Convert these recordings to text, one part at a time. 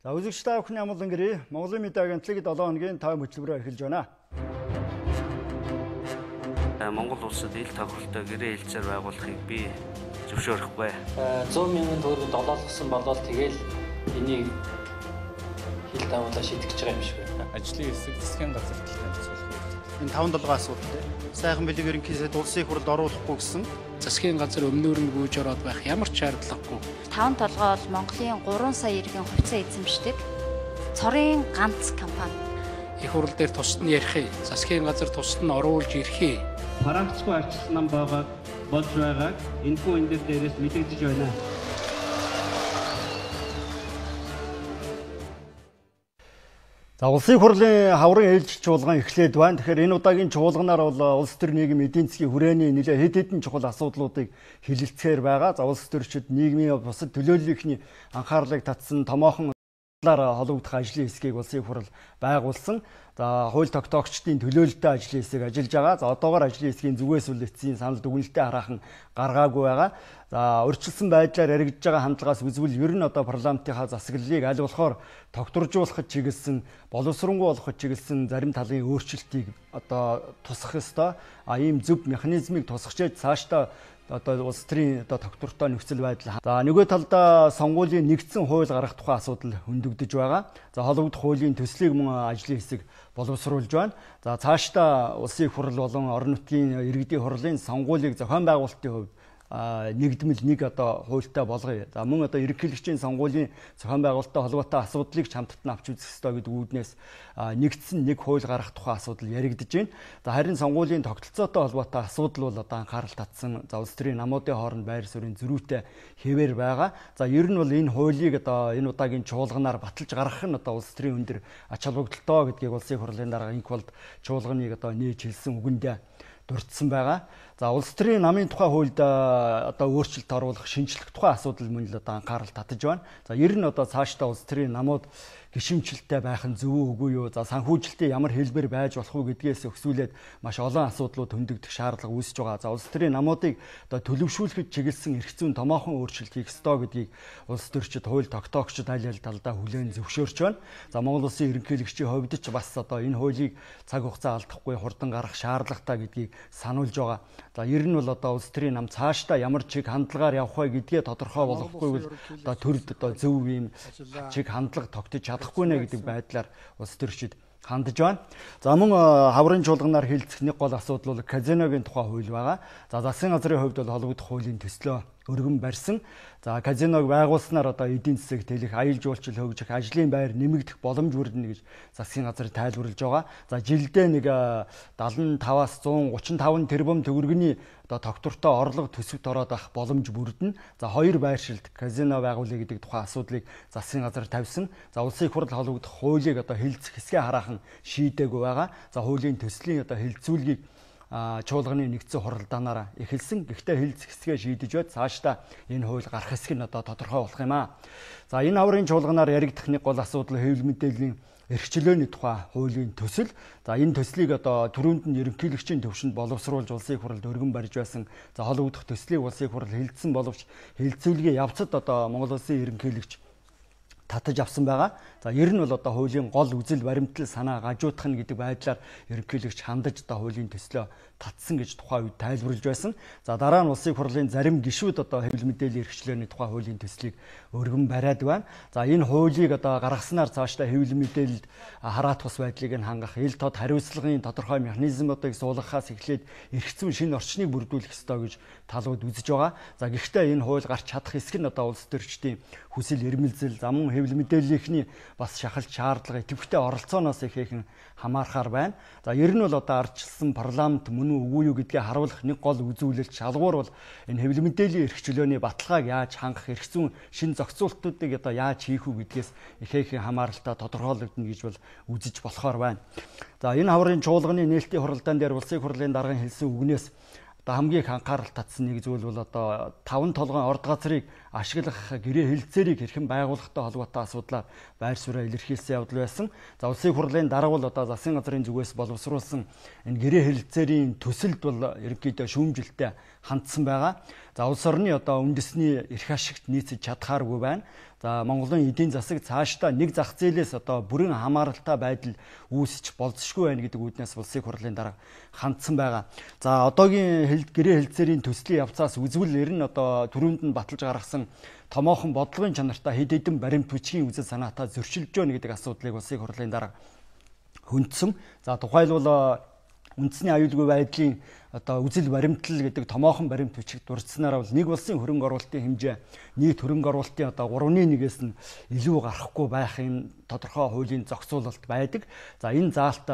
За үзэгч та бүхний амгалан гэрээ Монголын мэдээ агентлаг 7 хоногийн тайм хөтөлбөрөөр эхэлж байна. Монгол улсад ил тохиролтой гэрээ хэлцээр байгуулахыг би зөвшөөрөхгүй. 100 мянган төгрөг долоолгосон болол тэгэл энийг хил тавуулаа шийдэх гэж байгаа юм шиг байна. Ажлын хэсэг засгийн газар танилцуулах. Энэ 5-7 асуудалтай. Сайхан бэлэг ерөнхийдөө улсын их хурлд оруулахгүй гэсэн. Засгийн газар өмнөөр нь гүйж ороод байх ямар ч шаардлагагүй. 5 толгой бол Монголын 3 сая иргэн хувьцаа эзэмшдэг. Цорын ганц компани. Их хурл дээр тусад нь ярих. Засгийн газар тусад нь оруулж ирэх. Парагцгүй арчилсан нам байгаа болж байгааг энэхүү энэ дээрээс мэдэгдэж байна. За улсын хурлын хаврын ээлж чуулган эхлээд байна. Тэгэхээр энэ удаагийн чуулганаар бол улс төр нийгэм эдийн засгийн хүрээний нэлээд хэд хэдэн чухал асуудлуудыг хэлэлцэхээр байгаа. За улс төрчид нийгмийн бусад төлөөллийнхний анхаарлыг татсан томоохон холбогдох ажлын хэсгийг улсын хурал байгуулсан. За хууль тогтоогчдын төлөөлөлтөй ажлын хэсэг ажиллаж байгаа. За одоогоор ажлын хэсгийн зүгээс үл эцсийн санал дүгнэлтээ хараахан гаргаагүй байгаа. За урьдчилсан байдлаар яригдж байгаа хандлагаас үзвэл ер нь одоо парламентынхаа засаглалыг аль болохоор тогтворжуулахад чиглэсэн, боловсронгуй болгоход чиглэсэн зарим талын өөрчлөлтийг одоо тусах ёстой. Ийм зөв механизмыг тусгачээд цаашдаа одоо улс төрийн одоо тогтвортой нөхцөл байдал. За нөгөө талдаа сонгуулийн нэгдсэн хууль гаргах тухай асуудал хөндөгдөж байгаа. За холбогдох хуулийн төслийг мөн ажлын хэсэг боловсруулж байна. За цаашдаа улсын хурал болон орон нутгийн иргэдийн хурлын сонгуулийг зохион байгуулалтын хувьд нэгдмэл нэг одоо хуультай болгоё. За мөн одоо ерөнхийлөгчийн сонгуулийн зохион байгуулалттай холбоотой асуудлыг ч хамтд нь авч үзэх ёстой гэдэг үүднээс нэгдсэн нэг хууль гаргах тухай асуудал яригдж байна. За харин сонгуулийн тогтолцоотой холбоотой асуудал бол одоо анхаарал татсан. За улс төрийн намуудын хооронд байр суурийн зөрүүтэй хэвээр байгаа. За ер нь бол энэ хуулийг одоо энэ удаагийн чуулганаар баталж гаргах нь одоо улс төрийн өндөр ач холбогдолтой гэдгийг улсын хурлын дарга инх болд чуулганыг одоо нээж хэлсэн үгэндээ дурдсан байгаа. За улс төрийн намын тухай хуульд одоо өөрчлөлт оруулах, шинжлэх тухай асуудал мөн л одоо анхаарал татаж байна. За ер нь одоо цаашдаа улс төрийн намууд гишимчлэлтэй байх нь зөв үгүй юу? За санхүүжилтийн ямар хэлбэр байж болох уу гэдгээс өксүүлээд маш олон асуудлууд хөндөгдөх шаардлага үүсэж байгаа. За улс төрийн намуудыг одоо төлөвшүүлэхэд чиглэсэн эрх зүйн томоохон өөрчлөлт хийх ёстой гэдгийг улс төрчид, хууль тогтоогчид аль аль талдаа хүлээн зөвшөөрч байна. За Монгол улсын ерөнхийлөгчийн хувьд ч бас одоо энэ хуулийг цаг хугацаа алдахгүй хурдан гаргах шаардлагатай гэдгийг сануулж байгаа. За ер нь бол одоо улс төрийн нам цаашдаа ямар чиг хандлагаар явах вэ гэдгээ тодорхой болгохгүй бол одоо төрд одоо зөв ийм чиг хандлага тогтож чадахгүй нэ гэдэг байдлаар улс төрчид хандж байна. За мөн хаврын чуулганаар хэлцэх нэг гол асуудал бол казиногийн тухай хууль байгаа. За засгийн газрын хувьд бол холбогдох хуулийн төслөө өргөн барьсан. За казиног байгуулснаар одоо эдийн засаг тэлэх, аял жуулчлал хөгжих, ажлын байр нэмэгдэх боломж бүрдэнэ гэж засгийн газар тайлбарлаж байгаа. За жилдээ нэг 75-аас 135 тэрбум төгрөгийн одоо тогтвортой орлого төсөвт ороод авах боломж бүрдэнэ. За хоёр байршилд казино байгуулъя гэдэг тухайн асуудлыг засгийн газар тавьсан. За улсын хурал холбогдох хуулийг одоо хэлцэх хэсгээ хараахан шийдээгүй байгаа. За хуулийн төслийн одоо хэлцүүлгийг чуулганы нэгдсэн хуралдаанаар эхэлсэн. Гэхдээ хэлцэх хэсгээ шийдэж байд цаашдаа энэ хууль гарах хэсэг нь одоо тодорхой болох юм аа. За энэ хаврын чуулганаар яригдах нэг гол асуудал хэвлэл мэдээллийн эрхчлөөний тухай хуулийн төсөл. За энэ төслийг одоо түрүүнд нь ерөнхийлөгчийн төвшөнд боловсруулж улсын хуралд өргөн барьж байсан. За холбогдох төслийг улсын хурал хэлэлцсэн боловч хэлэлцүүлгийн явцад одоо Монгол улсын ерөнхийлөгч татаж авсан байгаа. За ер нь бол одоо хуулийн гол үзэл баримтлал санаа гажуудах нь гэдэг байдлаар ерөнхийлөгч хандаж одоо хуулийн төслөө татсан гэж тухайн үед тайлбарлаж байсан. За дараа нь улсын хурлын зарим гишүүд одоо хэвлэл мэдээллийн эрхчлөөний тухай хуулийн төслийг өргөн бариад байна. За энэ хуулийг одоо гаргаснаар цаашдаа хэвлэл мэдээлэлд хараат бус байдлыг нь хангах, ил тод хариуцлагын тодорхой механизмуудыг суулгахаас эхлээд эрх зүйн шинэ орчныг бүрдүүлэх ёстой гэж талууд үзэж байгаа. За гэхдээ энэ хууль гарч чадах хэсэг нь одоо улс төрчдийн хүсэл эрмэлзэл, замун хэвлэл мэдээллийнхний бас шахалт шаардлага идэвхтэй оролцооноос ихээхэн хамаарахаар байна. За ер нь бол одоо ардчилсан парламент мөн үгүй юу гэдгээ харуулах нэг гол үзүүлэлт шалгуур бол энэ хэвлэл мэдээллийн эрх чөлөөний баталгааг яаж хангах, эрх зүйн шин зохицуултуудыг одоо яаж хийх үү гэдгээс ихээхэн хамааралтай тодорхойлогдно гэж бол үзэж болохоор байна. За энэ хаврын чуулганы нээлтийн хуралдаан дээр улсын хурлын даргын хэлсэн үгнээс хамгийн их анхаарал татсан нэг зүйл бол одоо 5 толгойн орд газрыг ашиглах гэрээ хэлэлцээрийг хэрхэн байгуулахтай холбоотой асуудлаар байр сууриа илэрхийлсэн явдал байсан. За улсын хурлын дарга бол одоо засгийн газрын зүгээс боловсруулсан энэ гэрээ хэлэлцээрийн төсөлд бол ерөнхийдөө шүүмжилттэй хандсан байгаа. За улс орны одоо үндэсний эрх ашигт нийцэж чадхааргүй байна. За Монголын эдийн засаг цаашдаа нэг зах зээлээс одоо бүрэн хамааралтай байдал үүсэж болзошгүй байна гэдэг үүднээс улсын хурлын дарга хандсан байгаа. За одоогийн гэрээ хэлцээрийн төслийн явцаас үзвэл ер нь одоо түрүүнд нь баталж гаргасан томоохон бодлогын чанартай хэд хэдэн баримт бичгийн үзэл санаатай зөрчилж байна гэдэг асуудлыг улсын хурлын дарга хүндсэн. За тухайлбал үндэсний аюулгүй байдлын одоо үзэл баримтлал гэдэг томоохон баримт бичиг дурдсанаар бол нэг улсын хөрөнгө оруулалтын хэмжээ нийт хөрөнгө оруулалтын одоо 3/1-ээс нь илүү гарахгүй байхын тодорхой хуулийн зохицуулалт байдаг. За энэ заалт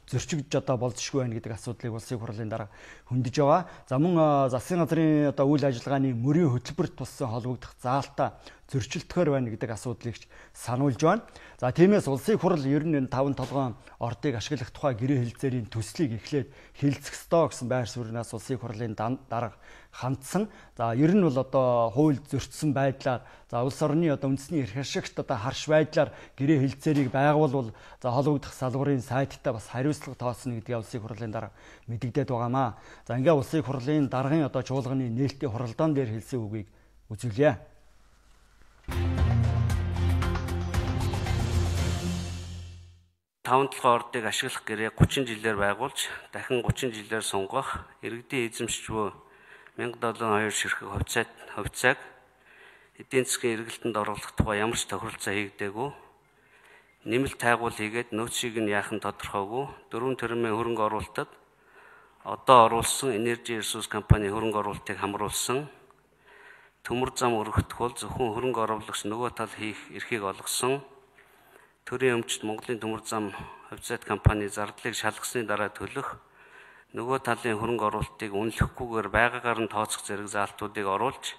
зөрчигдөж одоо болзошгүй байна гэдэг асуудлыг улсын хурлын дарга хөндөж байгаа. За мөн засгийн газрын одоо үйл ажиллагааны мөрийн хөтөлбөрт туссан холбогдох заалтаа зөрчилдөхөр байна гэдэг асуудлыг сануулж байна. За тиймээс улсын хурл ер нь 5 толгойн ордыг ашиглах тухай гэрээ хэлцээрийн төслийг эхлээд хэлцэх ёстой гэсэн байр сууриас улсын хурлын дарга хандсан. За ер нь бол одоо хууль зөрчсөн байдлаар за улс орны одоо үндэсний эрх ашигт одоо харш байдлаар гэрээ хэлцээрийг байгуулвал за холбогдох салбарын сайттай бас хариуцлага тооцно гэдгийг улсын хурлын дарга мэдэгдээд байгаамаа. За ингээ улсын хурлын даргын одоо чуулганы нээлтийн хуралдаан дээр хэлсэн үгийг үзүүлье. Таван толгой ордыг ашиглах гэрээ 30 жилээр байгуулж дахин 30 жилээр сунгах иргэдийн эзэмшчвөө 1702 ширхэг хувьцааг эдийн засгийн эргэлтэнд оруулах тухай ямар ч тохиролцоо хийгдээгүй. Нэмэлт тайгуул хийгээд нөөцийг нь яахан тодорхойгүй 4 тэрбумын хөрөнгө оруулалтад одоо оруулсан Energy Resource компани хөрөнгө оруулалтыг хамруулсан. Төмөр зам өргөхдөх бол зөвхөн хөрөнгө оруулагч нөгөө тал хийх эрхийг олгосон. Төрийн өмчт Монголын төмөр зам хувьцаат компани зардлыг шалгасны дараа төлөх нөгөө талын хөрөнгө оруулалтыг үнэлэхгүйгээр байгаагаар нь тооцох зэрэг заалтуудыг оруулж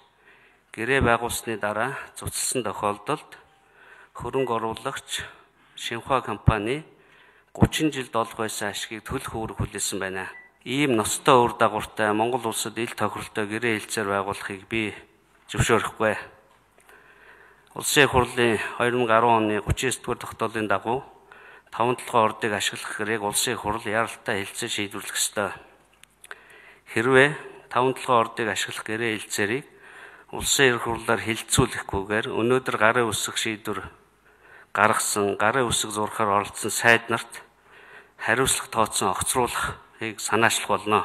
гэрээ байгуулсны дараа цуцлсан тохиолдолд хөрөнгө оруулагч Шинхua компани 30 жилд олох байсан ашгийг төлөх үүрэг хүлээсэн байна. Ийм ноцтой үр дагавартай Монгол улсад ил тохиролтой гэрээ хэлцээр байгуулахыг би зөвшөөрөхгүй. Улсын хурлын 2010 оны 39-р тогтоолын дагуу 5 толгой ордыг ашиглах гэрээг улсын хурл яралтай хэлцээр шийдвэрлэх ёстой. Хэрвээ 5 толгой ордыг ашиглах гэрээ хэлцээрийг улсын эрх хурлаар хилцүүлэхгүйгээр өнөөдөр гарын үсэг шийдвэр гаргасан, гарын үсэг зурхаар оролцсон сайд нарт хариуцлага тооцсон огцруулахыг санаачлах болно.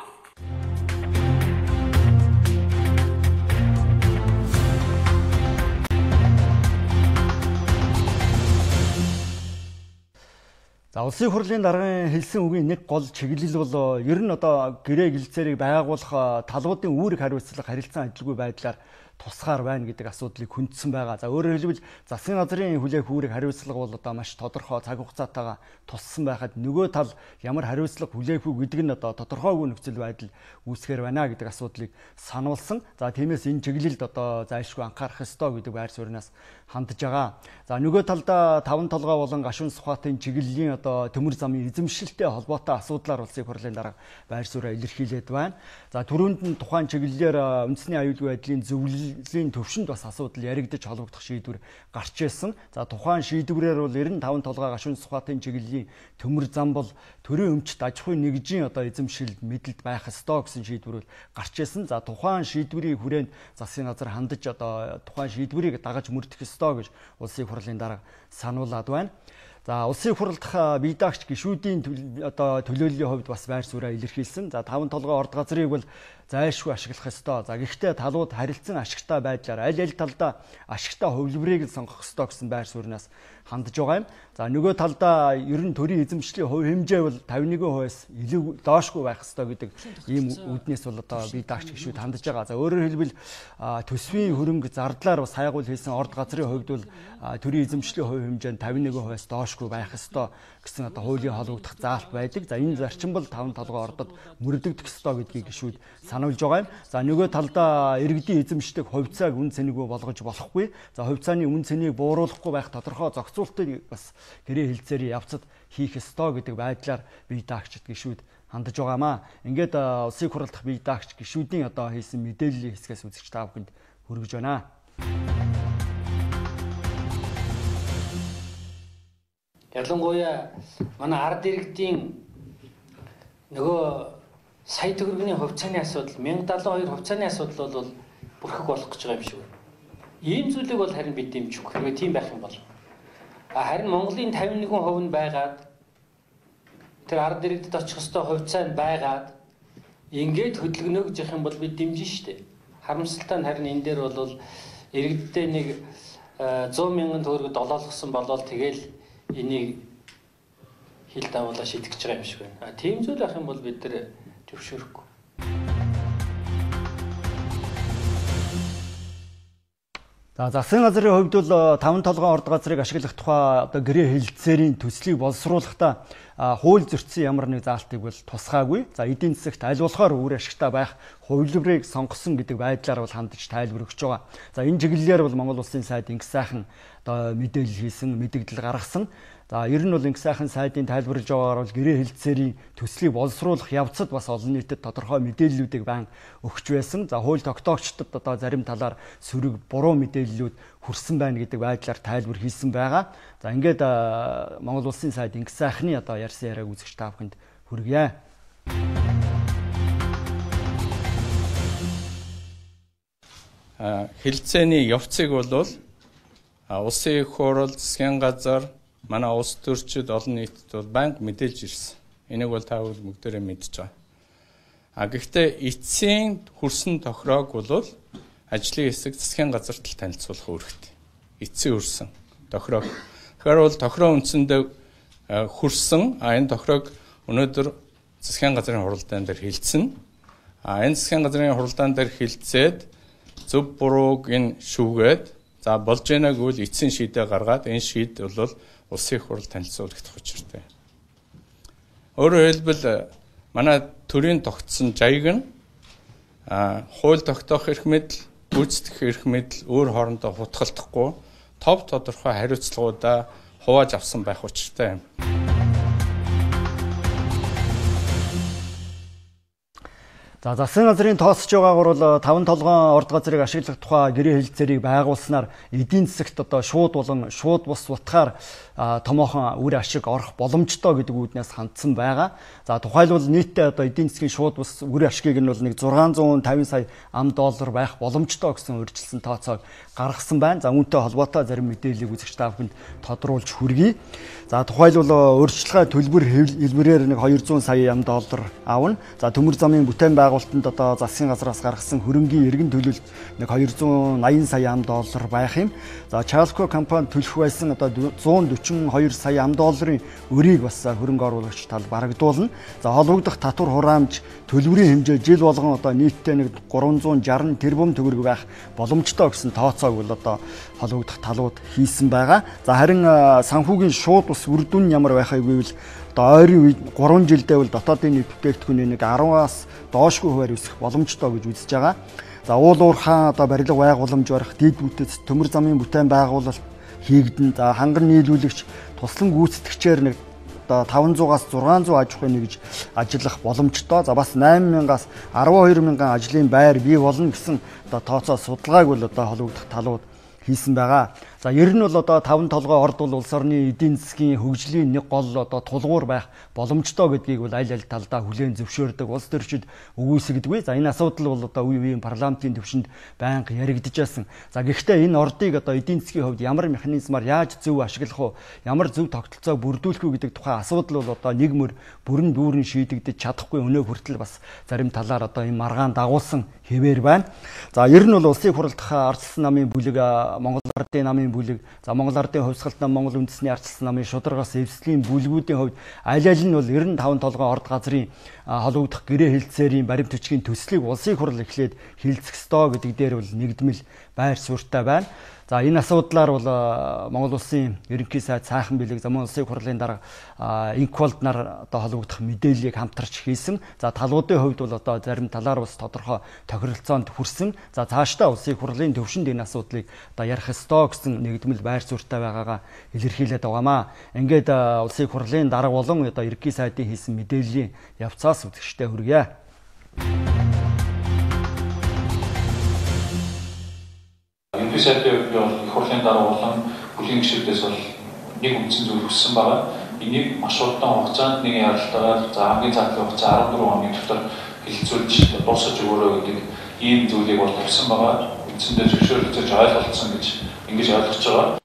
За улсын хурлын даргын хэлсэн үгийн нэг гол чиглэл бол ер нь одоо гэрээ хэлцээрийг байгуулах талуудын үүрэг хариуцлага харилцан адилгүй байдлаар тусгаар байна гэдэг асуудлыг хүндсэн байгаа. За өөрөөр хэлбэл засгийн газрын хүлээх үүрэг хариуцлага бол одоо маш тодорхой цаг хугацаатайгаа туссан байхад нөгөө тал ямар хариуцлага хүлээх үү гэдэг нь одоо тодорхойгүй нөхцөл байдал үүсгэр байна гэдэг асуудлыг сануулсан. За тиймээс энэ чиглэлд одоо зайлшгүй анхаарах ёстой гэдэг байр сууриас хандж байгаа. За нөгөө талдаа 5 толгой болон гашуун сухатын чиглэлийн одоо төмөр замын эзэмшилтэй холбоотой асуудлаар улсын хурлын дарга байр сууриа илэрхийлээд байна. За түрүүнд нь тухайн чиглэлээр үндэсний аюулгүй байдлын зөвлөлийн төвшөнд бас асуудал яригдж холбогдох шийдвэр гарч ирсэн. За тухайн шийдвэрээр бол 95 толгой гашуун сухатын чиглэлийн төмөр зам бол төрийн өмчт аж ахуйн нэгжийн одоо эзэмшилд мэдэлд байх ёстой гэсэн шийдвэр гарч ирсэн. За тухайн шийдвэрийг хүрээнд засгийн газар хандаж одоо тухайн шийдвэрийг дагаж мөрдөх ёстой гэж улсын хурлын дарга сануулад байна. За улсын хурлд бие даагч гишүүдийн одоо төлөөллийн хувьд бас байр сууриа илэрхийлсэн. За 5 толгой орд газрыг бол зайлшгүй ашиглах ёстой. За гэхдээ талууд харилцан ашигтай байдлаар аль талдаа ашигтай хувилбарыг сонгох ёстой гэсэн байр сууриас хандж байгаа юм. За нөгөө талдаа ер нь төрийн эзэмшлийн хувь хэмжээ бол 51%-аас илүү доошгүй байх ёстой гэдэг ийм үүднээс бол одоо бие даагч гишүүд хандж байгаа. За өөрөөр хэлбэл төсвийн хөрөнгө зардлаар бас хайгуул хийсэн орд газрын хувьд бол төрийн эзэмшлийн хувь хэмжээ нь 51%-аас доошгүй байх ёстой гэсэн одоо хуулийн холбогдох заалт байдаг. За энэ зарчим бол 5 толгой ордод мөрдөгдөх ёстой гэдгийг гишүүд сануулж байгаа юм. За нөгөө талдаа иргэдийн эзэмшдэг хувьцааг үн цэнэгүй болгож болохгүй. За хувьцааны үн цэнийг бууруулахгүй байх тодорхой зохицуултыг бас гэрээ хэлцээрийн явцад хийх ёстой гэдэг байдлаар бие даагчид гишүүд хандж байгаамаа. Ингээд улсын хурлд бие даагч гишүүдийн одоо хийсэн мэдээллийн хэсгээс үзэгч та бүхэнд хүргэж байна. Ялангуяа манай ард иргэдийн нөгөө сая төгрөгийн хувьцааны асуудал 1072 хувьцааны асуудал бол бүрхэг болох гэж байгаа юм шиг байна. Ийм зүйлийг бол харин бид дэмжих хэрэг тийм байх юм бол. Харин Монголын 51% нь байгаад тэр ард иргэдэд очих ёстой хувьцаа нь байгаад ингээд хөдөлгөнөө гэж явах юм бол бид дэмжин штэ. Харамсалтай нь харин энэ дээр бол иргэддээ нэг 100 мянган төгрөгөд долоолгосон болол тэгэл энийг хил давуулаа шийдэх гэж байгаа юм шиг байна. Тийм зүйл ах юм бол бид нар зөвшөөрөхгүй. Засгийн газрын хувьд бол 5 толгойн орд газрыг ашиглах тухай одоо гэрээ хэлэлцээрийн төслийг боловсруулахдаа хууль зөрчсөн ямар нэг заалтыг бол тусгаагүй. За эдийн засагт аль болохоор үр ашигтай байх хувилбарыг сонгосон гэдэг байдлаар бол хандж тайлбар өгч байгаа. За энэ чиглэлээр бол Монгол Улсын сайд инх сайхан одоо мэдээлэл хийсэн, мэдээлэл гаргасан. За ер нь бол инх сайхан сайдын тайлбарлаж байгаагаар бол гэрээ хэлэлцээрийн төслийг боловсруулах явцад бас олон нийтэд тодорхой мэдээллүүдийг байн өгч байсан. За хууль тогтоогчдод одоо зарим талаар сөрөг буруу мэдээллүүд хүрсэн байна гэдэг байдлаар тайлбар хийсэн байгаа. За ингээд Монгол Улсын сайд инх сайхны одоо ярьсан яриаг үзэгч та бүхэнд хүргье. Хэлэлцээний явцыг бол улсын их хурал, засгийн газар, манай улс төрчид олон нийтэд бол байнга мэдээлж ирсэн. Энийг бол та бүхэн бүгдээрээ мэдж байгаа. Гэхдээ эцсийн хүрсэн тохироог бол ажлын хэсэг засгийн газарт танилцуулах үүрэгтэй. Эцсийн хүрсэн тохироог. Тэгэхээр бол тохироо үндсэндээ хүрсэн. Энэ тохироог өнөөдөр засгийн газрын хуралдаан дээр хэлсэн. Энэ засгийн газрын хуралдаан дээр хэлцээд зөв бурууг энэ шүүгээд за болж байгааг үл эцсийн шийдээ гаргаад энэ шийд бол улсын их хурал танилцуулагдах учиртай. Өөрөөр хэлбэл манай төрийн тогтсон жайг нь хууль тогтоох эрх мэдэл, гүйцэтгэх эрх мэдэл өөр хоорондоо хутгалтахгүй тов тодорхой хариуцлагуудаа хувааж авсан байх учиртай юм. За засгийн газрын тооцож байгаагаар бол 5 толгойн орд газрыг ашиглах тухай гэрээ хэлэлцээрийг байгуулснаар эдийн засагт одоо шууд болон шууд бус утгаар томоохон үр ашиг орох боломжтой гэдэг үүднээс хандсан байгаа. За тухайлбал нийтдээ одоо эдийн засгийн шууд бус үр ашгийг нь бол нэг 650 сая ам доллар байх боломжтой гэсэн урьдчилсан тооцоог гаргасан байна. За үүнтэй холбоотой зарим мэдээллийг үзэгч та бүхэнд тодруулж хүргэе. За тухайлбал урьдчилгаа төлбөр хэлбэрээр нэг 200 сая ам доллар авна. За төмөр замын бүтээн байгуулалтанд одоо засгийн газраас гаргасан хөрөнгийн эргэн төлөлт нэг 280 сая ам доллар байх юм. За Чалко компани төлөх байсан одоо 142 сая ам долларын өрийг бас хөрөнгө оруулагч тал барагдуулна. За холбогдох татвар хураамж төлбөрийн хэмжээ жил болгон одоо нийтдээ нэг 360 тэрбум төгрөг байх боломжтой гэсэн тооцоог бол одоо холбогдох талууд хийсэн байгаа. За харин санхүүгийн шууд ус үр дүн ямар байхыг гэвэл одоо ойрын үед 3 жилдээ бол дотоодын нийт бүтээгдэхүүний нэг 10-аас доошгүй хуваар өсөх боломжтой гэж үзэж байгаа. За уул уурхаан одоо барилга байгууламж барих, дэд бүтэц, төмөр замын бүтээн байгуулалт хийгдэн. За ханган нийлүүлэгч туслан гүйцэтгэгчээр нэг одоо 500-аас 600 аж ахуйн нэгж ажиллах боломжтой. За бас 8,000-аас 12,000 ажлын байр бий болно гэсэн одоо тооцоо судалгааг бол одоо холбогдох талууд хийсэн байгаа. За ер нь бол одоо 5 толгой орд бол улс орны эдийн засгийн хөгжлийн нэг гол одоо тулгуур байх боломжтой гэдгийг бол аль аль талдаа хүлээн зөвшөөрдөг. Улс төрчид өгөөсгдөггүй. За энэ асуудал бол одоо үе үеийн парламентын түвшинд байнга яригдж байсан. За гэхдээ энэ ордыг одоо эдийн засгийн хувьд ямар механизмаар яаж зөв ашиглах уу, ямар зөв тогтолцоог бүрдүүлэх үү гэдэг тухайн асуудал бол одоо нэг мөр бүрэн дүүрэн шийдэгдэж чадахгүй өнөө хүртэл бас зарим талаар одоо энэ маргаан дагуулсан хэвээр байна. За ер нь бол улсын хурлдах ардчилсан намын бүлэг, Монгол ардын намын бүлэг, за Монгол ардын хувьсгалт нам, Монгол үндэсний ардчилсан намын шударгаас эвслийн бүлгүүдийн хувьд аль аль нь бол 95 толгойн орд газрын холбогдох гэрээ хэлэлцээрийн баримт бичгийн төслийг улсын хурл эхлээд хилцэх ёстой гэдэг дээр бол нэгдмэл байр суурьтай байна. За энэ асуудлаар бол Монгол улсын ерөнхий сайд сайхан бэлэг, замун улсын хурлын дарга инквалд нар одоо холбогдох мэдээллийг хамтарч хийсэн. За талуудын хувьд бол одоо зарим талаар бас тодорхой тохиролцоонд хүрсэн. За цаашдаа улсын хурлын төвшөнд энэ асуудлыг одоо ярих ёстой гэсэн нэгдмэл байр суурьтай байгаагаа илэрхийлээд байгаамаа. Ингээд улсын хурлын дарга болон одоо ерөнхий сайдын хийсэн мэдээллийн явцаас үзэгчтэй хүргье. Ерөнхий сайдын их хурлын дарга болон бүлийн гишүүдээс бол нэг үндсэн зүйл хүссэн байгаа. энийг маш удаан хугацаанд нэг ярилцлагаар за хамгийн цаатлын хугацаа 14 хоногийн дотор хэлэлцүүлж дуусгаж өгөөрэй гэдэг ийм зүйлийг бол тавьсан байгаа. Үндсэндээ зөвшөөрлөж ойлголцсон гэж ингэж ойлгож байгаа.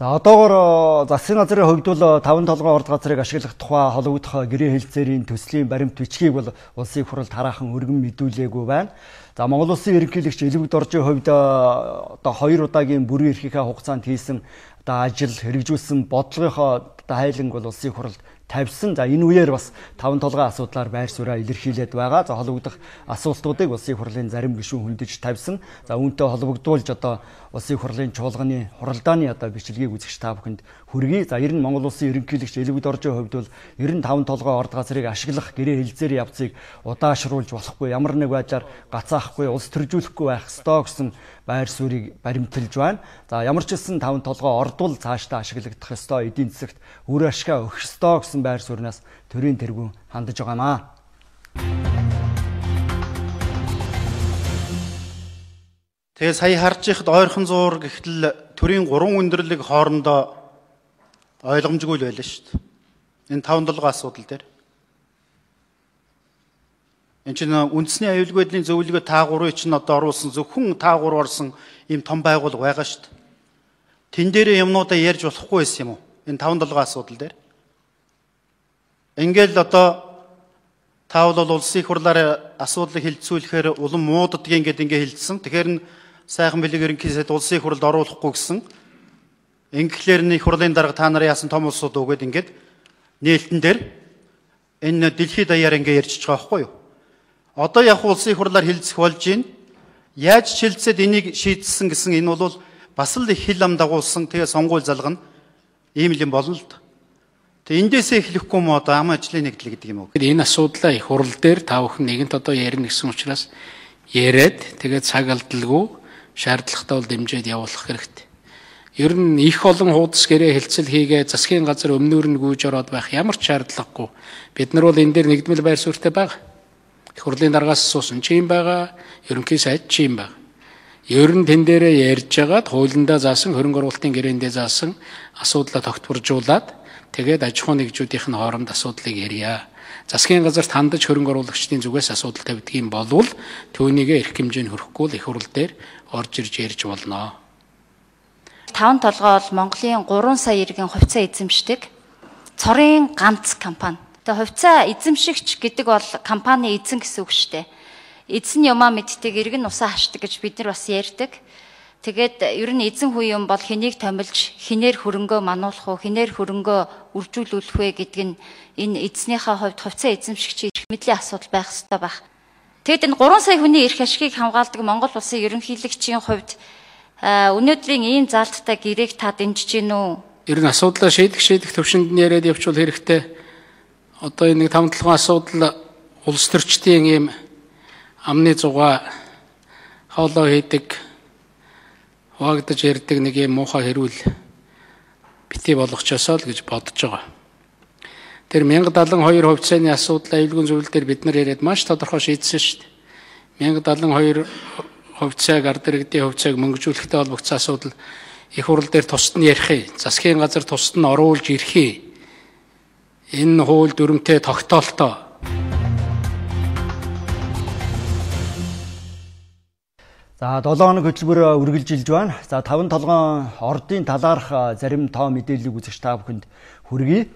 За одоогоор засгийн газрын хувьд бол 5 толгой орд газрыг ашиглах тухай холбогдох гэрээ хэлэлцээрийн төслийн баримт бичгийг бол улсын хурал тараахан өргөн мэдүүлээгүй байна. За Монгол Улсын ерөнхийлөгч Элбэг Доржийн хувьд одоо 2 удаагийн бүрэн эрхийнхээ хугацаанд хийсэн одоо ажил хэрэгжүүлсэн бодлогынхоо хайланг бол улсын хуралд тавьсан. За энэ үеэр бас 5 толгой асуудлаар байр сууриа илэрхийлээд байгаа. За холбогдох асуултуудыг улсын хурлын зарим гишүүн хөндөж тавьсан. За үүнтэй холбогдуулж одоо улсын хурлын чуулганы хуралдааны одоо бичлэгийг үзэгч та бүхэнд хүргэе. За ер нь Монгол Улсын ерөнхийлөгч Элбэг Доржийн хувьд бол 95 толгой орд газрыг ашиглах гэрээ хэлэлцээрийн явцыг удаашруулж болохгүй, ямар нэг байдлаар гацаахгүй, улс төржүүлэхгүй байх ёстой гэсэн байр суурийг баримталж байна. За ямар ч хэлсэн 5 толгой ордвол цаашдаа ашиглагдах ёстой, эдийн засагт үр ашгаа өгөх ёстой гэсэн байр сууриас төрийн тэргүүн хандаж байгаамаа. Тэгээ сая харж ихад ойрхон зуур гэхтэл төрийн 3 өндөрлөг хоорондоо ойлгомжгүй л байлаа шүү дээ. Энэ 5 толгой асуудал дээр. Энд чинь үндэсний аюулгүй байдлын зөвлөгөө та 3-ыг чинь одоо оруулсан зөвхөн та 3 орсон ийм том байгууллага байгаа шүү дээ. Тэн дээр юмнуудаа ярьж болохгүй байсан юм уу? Энэ 5 толгой асуудал дээр. Ингээл одоо та бол улсын хурлаар асуудлыг хэлэлцүүлэхээр улам муудадгийн гэдэг ингээ хэлсэн. Тэгэхээр нь сайхан бэлэг ерөнхий сайд улсын хурлд оруулахгүй гэсэн. Ингээхлээр нэг хурлын дарга та нарын яасан том улсууд өгөөд ингээд нээлтэн дээр энэ дэлхийд даяар ингээ ярьж байгаа байхгүй юу? Одоо яг улсын хурлаар хэлцэх болж байна. Яаж шилжсэд энийг шийдсэн гэсэн энэ бол бас л их хил ам дагуулсан тэгээ сонгуул залгана. Ийм л юм болно л да. Тэгээ эндээсээ эхлэхгүй юм одоо ам ажлын нэгдэл гэдэг юм уу? Энэ асуудлаа их хурал дээр та бүхэн нэгэнт одоо ярина гэсэн учраас яриад тэгээд цаг алдалгүй шаардлагатай бол дэмжиж явуулах хэрэгтэй. Ер нь их олон хуудас гэрээ хэлцэл хийгээ засгийн газар өмнөр нь гүйж ороод байх ямар ч шаардлагагүй. Бид нар бол энэ дээр нэгдмэл байр суурьтай байгаа. Их хурлын даргаас суусан ч юм байгаа, ерөнхий сайд ч юм байгаа. Ер нь тэн дээрээ ярьж агаад хуулиндаа заасан хөрөнгө оруулалтын гэрээндээ заасан асуудлаа тогтворжуулаад тэгээд аж ахуй нэгжүүдийн хооронд асуудлыг ярья. Засгийн газарт хандаж хөрөнгө оруулагчдын зүгээс асуудал тавьдаг юм болвол түүнийгээ эрх хэмжээнд хүрэхгүй л их хурал дээр орж ирж ярьж болно. 5 толгой бол Монголын 3 сая иргэн хувьцаа эзэмшдэг цорын ганц компани. Тэгээ хувьцаа эзэмшигч гэдэг бол компани эзэн гэсэн үг шүү дээ. Эзэн юмаа мэддэг, иргэн усаа хашдаг гэж бид нар бас ярьдаг. Тэгээд ер нь эзэн хүү юм бол хэнийг томилж, хинээр хөрөнгөө мануулах уу, хинээр хөрөнгөө үржүүлүүлэх вэ гэдэг нь энэ эзнийхээ хувьд хувьцаа эзэмшигчийн эрх мэдлийн асуудал байх ёстой байх. Тэгэд энэ 3 сая хүний эрх ашгийг хамгаалдаг Монгол Улсын ерөнхийлөгчийн хувьд өнөөдрийн ийм заалттай гэрээг та дэмжиж гин үү? Ер нь асуудлаа шийдэх төвшөнд нь яриад явуул хэрэгтэй. Одоо энэ 5 толгой асуудал улс төрчдийн ийм амны зугаа хоолоо хийдэг, хуваагдаж ярьдаг нэг юм муухай хэрүүл битгий болгочосоо л гэж бодож байгаа. Тэр 1072 хувьцааны асуудал аюулгүй зөвлөл дээр бид нар яриад маш тодорхой шийдсэн шүү дээ. 1072 хувьцааг ард иргэдийн хувьцааг мөнгөжүүлэхтэй холбогдсон асуудал их хурал дээр тусад нь ярих, засгийн газар тусад нь оруулж ирэх. Энэ хууль дүрмтэй тогтоолтоо. За 7 хоног хөтөлбөр үргэлжилж байна. За 5 толгой ордын талаарх зарим тоо мэдээллийг үзэгч та бүхэнд хүргэе.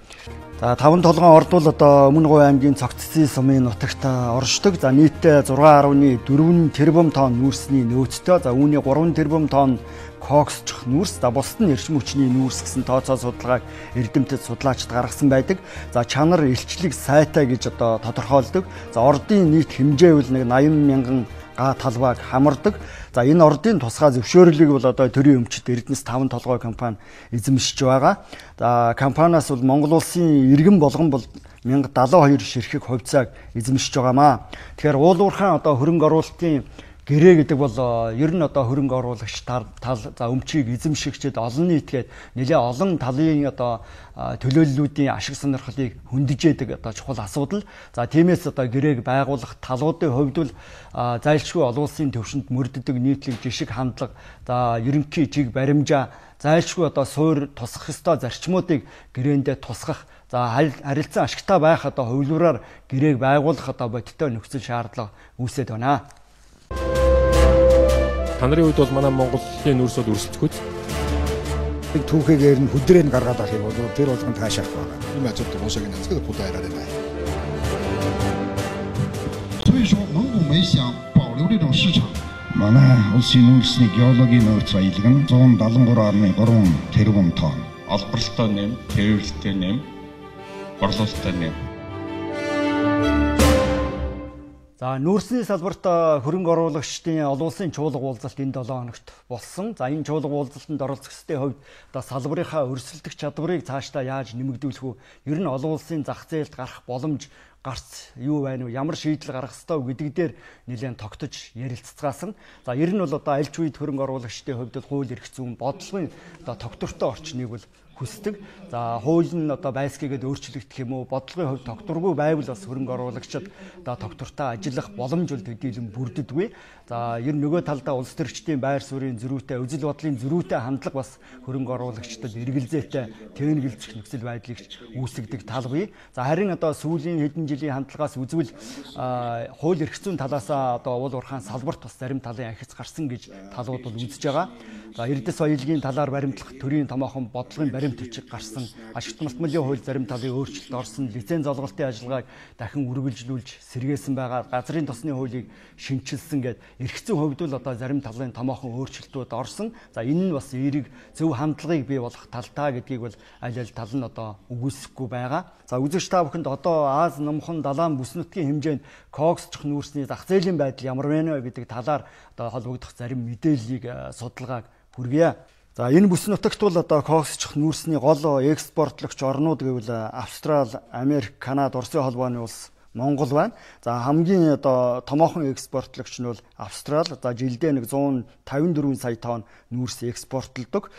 За 5 толгой орд бол одоо Өмнөговь аймгийн Цогццын сумын нутагт оршдог. За нийтдээ 6.4 тэрбум тонн нүүрсний нөөцтэй. За үүний 3 тэрбум тонн коксчих нүүрс, за бусад нь эрчим хүчний нүүрс гэсэн тооцоо судалгааг эрдэмтэд судлаачид гаргасан байдаг. За чанар илчлэг сайтай гэж одоо тодорхойлдог. За ордын нийт хэмжээ бол нэг 80 мянган га талбайг хамардаг. За энэ ордын тусгай зөвшөөрлийг бол одоо төрийн өмчит Эрдэнэс 5 толгой компани эзэмшиж байгаа. За компаниас бол Монгол улсын иргэн болгон бол 1072 ширхэг хувьцааг эзэмшиж байгаамаа. Тэгэхээр уулуурхаан одоо хөрөнгө оруулалтын Гэрээ гэдэг бол ер нь одоо хөрөнгө оруулагч тал за өмчийг эзэмшигчид олон нийтгээд нэлээ олон талын одоо төлөөллүүдийн ашиг сонирхлыг хөндөж яадаг одоо чухал асуудал. За тиймээс одоо гэрээг байгуулах талуудын хувьд бол зайлшгүй олон улсын төвшөнд мөрддөг нийтлэг жишг хандлага, за ерөнхий жиг баримжаа, зайлшгүй одоо суур тусах ёстой зарчмуудыг гэрээндээ тусгах, за харилцан ашигтай байх одоо хувилбараар гэрээг байгуулах одоо бодиттой нөхцөл шаардлага үүсэж байна. Та нарын хувьд бол манай Монголын нүүрс бол өрсөлдөхөд түүхийгээр нь хөдрөө гаргаад авах юм бол тэр болгон таашаах байна. 因为这东西跟这个不带来的来。所以说，蒙古煤想保留这种市场。 Манай улсын нүүрсний геологийн нөөц баялаг нь 173.3 тэрбум тонн. Олборлолтой нэм, тэрвэрлэлтэй нэм, борлуулалттай нэм. За нүүрсний салбарт хөрөнгө оруулагчдын олон улсын чуулга уулзалт энэ 7 хоногт болсон. За энэ чуулга уулзалтанд оролцох ёстой хувьд одоо салбарынхаа өрсөлдөх чадварыг цаашдаа яаж нэмэгдүүлэх вэ? Ер нь олон улсын зах зээлд гарах боломж гарц юу байна вэ? Ямар шийдэл гаргах ёстой гэдэг дээр нэлээд тогтож ярилцгаасан. За ер нь бол одоо аль ч үед хөрөнгө оруулагчдын хувьд хууль эрх зүйн бодлогын одоо тогтвортой орчныг бол хүсдэг. За хууль нь одоо байсгийгээд өөрчлөгдөх юм уу? Бодлогын хувьд тогтворгүй байвал бас хөрөнгө оруулагчид одоо тогтвортой ажиллах боломж бол төдийлөн бүрддэггүй. За ер нь нөгөө талдаа улс төрчдийн байр суурийн зөрүүтэй, үзэл бодлын зөрүүтэй хандлага бас хөрөнгө оруулагчдад эргэлзээтэй тэнэгэлзэх нөхцөл байдлыг үүсгдэг тал бий. За харин одоо сүүлийн хэдэн жилийн хандлагаас үзвэл хууль эрх зүйн талаас одоо уул уурхайн салбарт бас зарим талын ахиц гарсан гэж талууд бол үзэж байгаа. За эрдэс соёлын талаар баримтлах төрийн томоохон бодлогын баримт бичиг гарсан, ашигт малтмалын хууль зарим талын өөрчлөлт орсон, лиценз олголтын ажиллагааг дахин үргэлжлүүлж сэргээсэн байгаа, газрын тосны хуулийг шинчилсэн гэд эрх зүйн хувьд бол одоо зарим талын томоохон өөрчлөлтүүд орсон. За энэ нь бас эерэг зөв хандлагыг бий болгох талтай гэдгийг бол аль аль тал нь одоо үгүйсэхгүй байгаа. За үзэгч та бүхэнд одоо Аз номхон далайн бүс нутгийн хэмжээнд коксчих нүүрсний зах зээлийн байдал ямар байна вэ гэдэг талаар одоо холбогдох зарим мэдээллийг судалгааг хүргье. За энэ бүс нутагт бол одоо коксчих нүүрсний гол экспортлогч орнууд гэвэл Австрал, Америк, Канада, Оросын холбооны улс, Монгол байна. За хамгийн одоо томоохон экспортлогч нь бол Австрал. За жилдээ нэг 154 сая тонн нүүрс экспортлдог.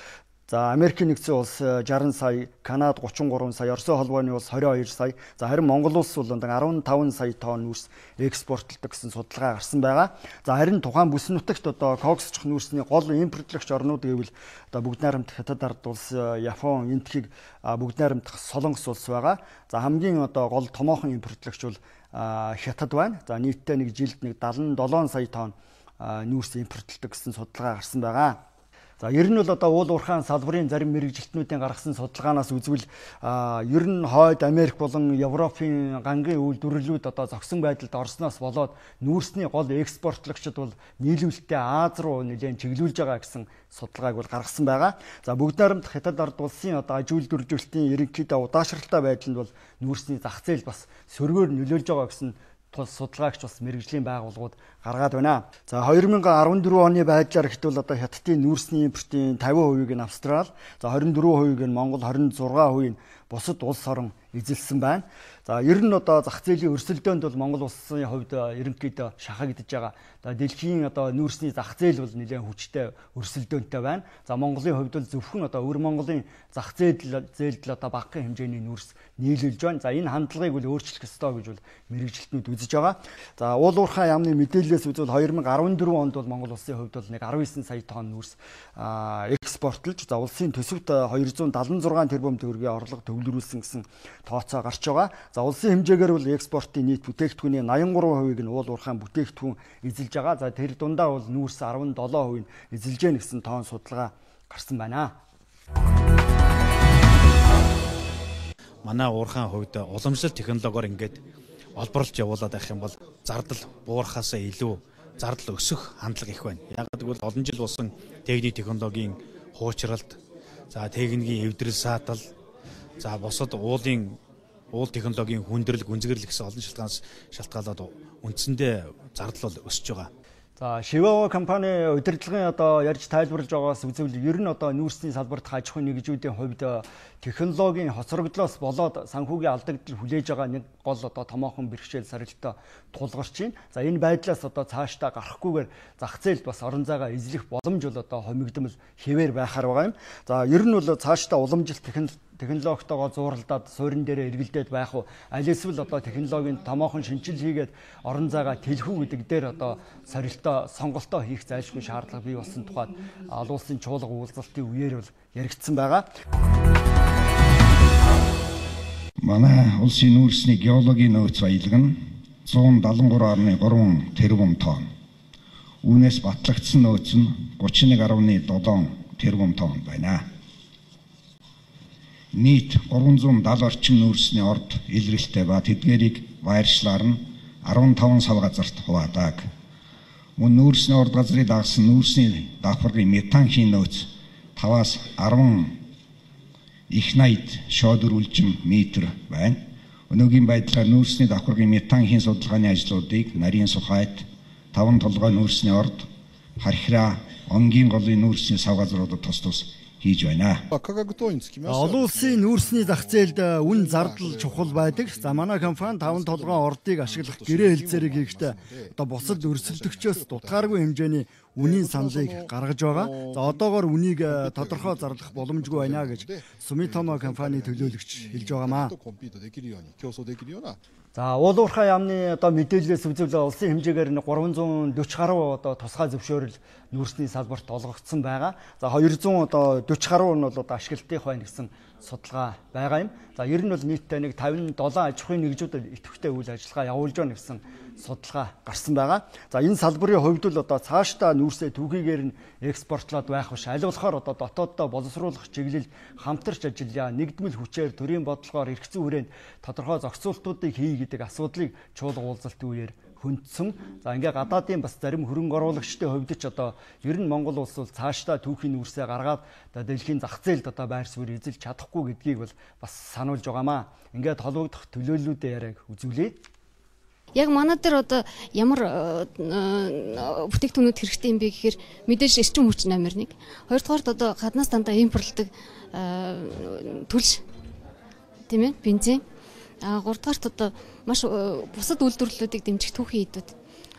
За Америкийн нэгдсэн улс 60 сая, Канада 33 сая, Оросын холбооны улс 22 сая. За харин Монгол улс бол 15 сая тонн нүүрс экспортлдог гэсэн судалгаа гарсан байгаа. За харин тухайн бүс нутагт одоо коксчих нүүрсний гол импортлогч орнууд гэвэл одоо бүгд найрамдах Хятад ард улс, Япон, энтхийг бүгд найрамдах Солонгос улс байгаа. За хамгийн одоо гол томоохон импортлогч бол Хятад байна. За нийтдээ нэг жилд нэг 77 сая тонн нүүрс импортлдог гэсэн судалгаа гарсан байгаа. За ер нь бол одоо уул уурхайн салбарын зарим мэрэгжилтнүүдийн гаргасан судалгаанаас үзвэл ер нь хойд Америк болон Европын гангийн үйлдвэрлэлүүд одоо зогсон байдалд орсноос болоод нүүрсний гол экспортлогчид бол нийлүүлэлтээ Аз руу нэлээд чиглүүлж байгаа гэсэн судалгааг бол гаргасан байгаа. За бүгд найрамдах Хятад ард улсын одоо аж үйлдвэрлэлтийн ерөнхийдөө удаашралтай байдланд бол нүүрсний зах зээл бас сөргөөр нөлөөлж байгаа гэсэн судалгаагч бас мэрэгжлийн байгууллагууд гаргаад байна. За 2014 оны байдлаар хэвэл одоо Хятадын нүүрсний импортын 50% нь Австрал, за 24% нь Монгол, 26% нь бусад улс орон эзэлсэн байна. За ер нь одоо зах зээлийн өрсөлдөөнд бол Монгол улсын хувьд ерөнхийдөө шахагдж байгаа. Дэлхийн одоо нүүрсний зах зээл бол нэлээд хүчтэй өрсөлдөөнтэй байна. За Монголын хувьд бол зөвхөн одоо өвөр Монголын зах зээлд л одоо багахан хэмжээний нүүрс нийлүүлж байна. За энэ хандлагыг бол өөрчлөх ёстой гэж бол мэрэгжилтнүүд үзэж байгаа. За уул уурхай яамны мэдээллээс үзвэл 2014 онд бол Монгол улсын хувьд бол нэг 19 сая тонн нүүрс экспортлж, за улсын төсөвт 276 тэрбум төгрөгийн орлого төвлөрүүлсэн гэсэн тооцоо гарч байгаа. За улсын хэмжээгээр бол экспортын нийт бүтээгдэхүүний 83% нь уул уурхайн бүтээгдэхүүн эзэлж байгаа. За тэр дундаа бол нүүрс 17% нь эзэлж гэнэ гэсэн тоон судалгаа гарсан байна. Манай уурхайн хувьд уламжлал технологиор ингээд олборлж явуулаад байх юм бол зардал буурахаас илүү зардал өсөх хандлага их байна. Яг гэвэл олон жил болсон техник технологийн хуучралт, за техникийн эвдрэл саатал, за бусад уул технологийн хүндрэл, гүнзгэрэл гэсэн олон шалтгаанаас шалтгаалаад үндсэндээ зардал бол өсөж байгаа. За Шивао компани удирдлагын одоо ярьж тайлбарлаж байгаагаас үзвэл ер нь одоо нүүрсний салбарт аж ахуйн нэгжүүдийн хувьд технологийн хоцрогдлоос болоод санхүүгийн алдагдал хүлээж байгаа нэг гол одоо томоохон бэрхшээл сорилттой тулгарч байна. За энэ байдлаас одоо цаашдаа гарахгүйгээр зах зээлд бас орон зайгаа эзлэх боломж бол одоо хомигдмал хэвээр байхаар байгаа юм. За ер нь бол цаашдаа уламжилт технологитойгоо зууралдаад суурин дээрээ эргэлдээд байх уу, аль эсвэл одоо технологийн томоохон шинжил хийгээд орон зайгаа тэлхүү гэдэг дээр одоо сорилтоо сонголтоо хийх зайлшгүй шаардлага бий болсон тухайд олон улсын чуулга уулзалтын үеэр бол яригдсан байгаа. Манай улсын нүүрсний геологийн нөөц баялаг нь 173.3 тэрбум тонн. Үүнээс батлагдсан нөөц нь 31.7 тэрбум тонн байна. Нийт 370 орчим нүүрсний орд илрэлттэй ба тэдгээрийг вайрчлаар нь 15 сав газарт хуваадаг. Мөн нүүрсний орд газрыг дагсан нүүрсний давхаргын метан хийн нөөц 5-аас 10 их найд шодор үлжим метр байна. Өнөөгийн байдлаар нүүрсний давхаргын метан хийн судалгааны ажлуудыг нарийн сухайд, таван толгой нүүрсний орд, хархираа, онгийн голын нүүрсний сав газруудад тус хийж байна. Олон улсын нүүрсний зах зээлд үн зардал чухал байдаг. За манай компани таван толгой ордыг ашиглах гэрээ хэлцээрийг хийхдээ одоо бусад өрсөлдөгчөөс дутгааргүй хэмжээний үнийн саналыг гаргаж байгаа. За одоогоор үнийг тодорхой зарлах боломжгүй байна гэж Sumitomo компани төлөөлөгч хэлж байгаамаа. За уул уурхай яамны одоо мэдээлэлээс үзвэл улсын хэмжээгээр 340 гаруй одоо тусгай зөвшөөрөл нүүрсний салбарт олгогдсон байгаа. За 200 одоо 40 гаруй нь бол одоо ашиглалтын байна гэсэн судалгаа байгаа юм. За ер нь бол нийтдээ нэг 57 аж ахуйн нэгжүүд идэвхтэй үйл ажиллагаа явуулж байна гэсэн судалгаа гарсан байгаа. За энэ салбарын хувьд л одоо цаашдаа нүүрсээ түүхийгээр нь экспортлоод байх биш. Аль болохоор одоо дотооддоо боловсруулах чиглэл хамтарч ажиллая. Нэгдмэл хүчээр төрийн бодлогоор эрх зүйн хүрээнд тодорхой зохицуултуудыг хий гэдэг асуудлыг чуулга уулзалтын үеэр хүндсэн. За ингээ гадаадын бас зарим хөрөнгө оруулагчдын хувьд ч одоо ер нь Монгол улс бол цаашдаа түүхийн нүүрсээ гаргаад дэлхийн зах зээлд одоо байр суурь эзэлж чадахгүй гэдгийг бол бас сануулж байгаамаа. Ингээд холбогдох төлөөллүүдээ яриаг үзүүлээ. Яг манай дээр одоо ямар бүтээгдэхүүнүүд хэрэгтэй юм бэ гэхээр мэдээж эрчим хүч номер 1. Хоёрдугаарт одоо гаднаас дандаа импортлдог түлш тийм ээ бензин. Гуравдугаарт одоо маш бусад үйлдвэрлэлүүдийг дэмжих түүхийн эдүүд.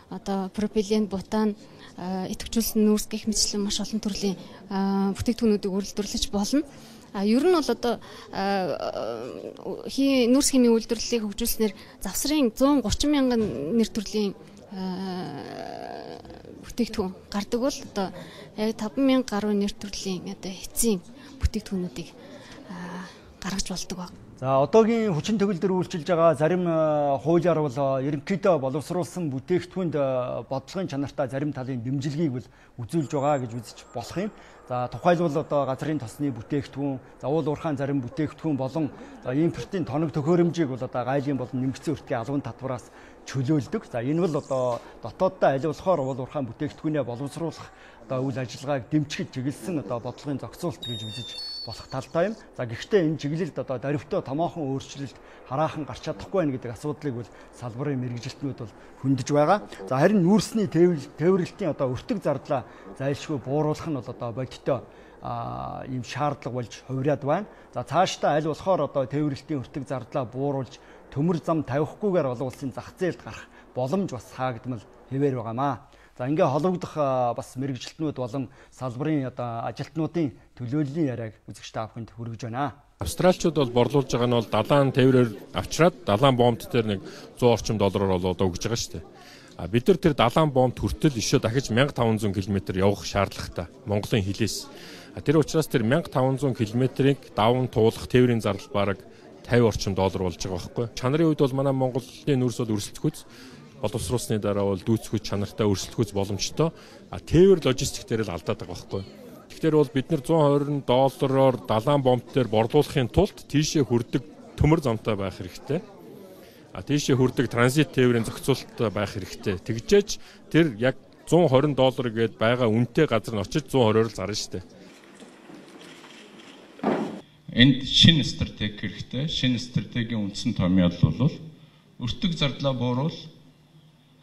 Одоо пропилен, бутан, идэвхжүүлсэн нүүрс гэх мэтчлэн маш олон төрлийн бүтээгдэхүүнүүдийг үйлдвэрлэж болно. Ер нь бол одоо нүүрс химийн үйлдвэрлэлийг хөгжүүлснээр завсрын 130 мянган нэр төрлийн бүтээгдэхүүн гардаг бол одоо яг 5,000 гаруй нэр төрлийн одоо эцсийн бүтээгдэхүүнүүдийг гаргаж болдог баг. За одоогийн хүчин төгөлдөр үйлчилж байгаа зарим хуулиар бол ерөнхийдөө боловсруулсан бүтээгдэхүүнд бодлогын чанартай зарим талын дэмжлэгийг бол үзүүлж байгаа гэж үзэж болох юм. За тухайлбал одоо газрын тосны бүтээгдэхүүн, уул уурхайн зарим бүтээгдэхүүн болон импортын тоног төхөөрөмжийг бол одоо гайлын болон нэмэгдсэн өртгийн албан татвараас чөлөөлдөг. За энэ бол одоо дотооддоо аль болохоор уул уурхайн бүтээгдэхүүнээ боловсруулах одоо үйл ажиллагааг дэмжих чиглэсэн одоо бодлогын зохицуулт гэж үзэж болох талтай юм. За гэхдээ энэ чиглэлд одоо даривтаа томоохон өөрчлөлт хараахан гарч чадахгүй байх гэдэг асуудлыг бол салбарын мэргэжилтнүүд бол хөндөж байгаа. За харин нүүрсний тээвэрлэлтийн одоо өртөг зардлаа зайлшгүй бууруулах нь бол одоо бодиттой ийм шаардлага болж хувираад байна. За цаашдаа аль болохоор одоо тээвэрлэлтийн өртөг зардлаа бууруулж төмөр зам тавихгүйгээр олон улсын зах зээлд гарах боломж бас хаагдмал хэвээр байгаамаа. За ингээ холбогдох бас мэргэжилтнүүд болон салбарын одоо ажилтнуудын төлөөллийн яриаг үзэгч та бүхэнд хүргэж байна. Австралчууд бол борлуулж байгаа нь бол далайн тээврээр авчраад далайн бомб дээр нэг 100 орчим доллараар бол одоо өгж байгаа шүү дээ. Бид нар тэр далайн бомб хүртэл ишөө дахиж 1500 км явах шаардлагатай Монголын хилээс. Тэр учраас тэр 1500 км-ийг даван туулах тээврийн зардал бараг 50 орчим доллар болж байгаа байхгүй. Чанарын үед бол манай Монголын нүүрс бол өрсөлдөхүйц боловсруулсны дараа бол дүүцэх чанартай өрсөлдөхүйц боломжтой. Тээвэр логистик дээр л алдаад байгаа байхгүй. Тэгэхээр бол бид нар 120 доллараар далайн бомб дээр борлуулахын тулд тийшээ хүрдэг төмөр замтай байх хэрэгтэй. Тийшээ хүрдэг транзит тээврийн зохицуулалттай байх хэрэгтэй. Тэгжээж тэр яг 120 доллар гээд байгаа үнэтэй газар нь очиж 120-оор л зарна шүү дээ. Энд шинэ стратеги хэрэгтэй. Шинэ стратегийн үндсэн томьёол бол өртөг зардлаа бууруул,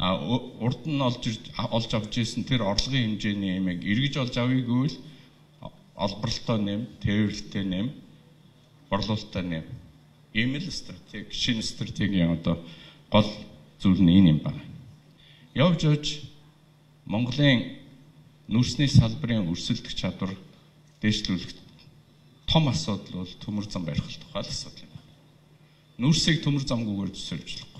урд нь олж авч ирсэн тэр орлогын хэмжээний ямиг эргэж олж авъягүй л олборлолтоо нэм, тээвэрлэлтэй нэм, борлуулалтаа нэм. Ийм л стратеги, шинэ стратегийн одоо гол зүйл нь энэ юм байна. Явж явж Монголын нүүрсний салбарын өрсөлдөх чадвар дээшлүүлэх том асуудал бол төмөр зам барих тухай асуудал юм. Нүүрсийг төмөр замгүйгээр төсөөлж болохгүй.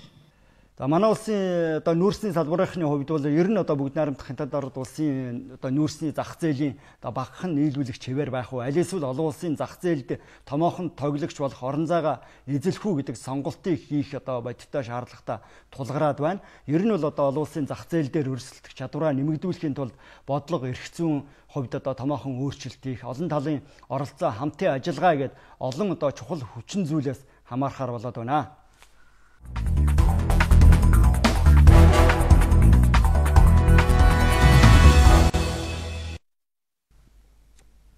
За манай улсын одоо нүүрсний салбарынхны хувьд бол ер нь одоо бүгд найрамдах хяналтад ороод улсын одоо нүүрсний зах зээлийн одоо багахан нийлүүлэх чивээр байх уу, аль эсвэл олон улсын зах зээлд томоохон тоглогч болох орон зайгаа эзлэх үү гэдэг сонголтыг хийх одоо бодиттой шаардлагатай тулгараад байна. Ер нь бол одоо олон улсын зах зээл дээр өрсөлдөх чадвараа нэмэгдүүлэхийн тулд бодлого эрх зүйн хувьд одоо томоохон өөрчлөлт хийх, олон талын оролцоо хамтын ажиллагаа гэдэг олон одоо чухал хүчин зүйлээс хамаарахаар болоод байна.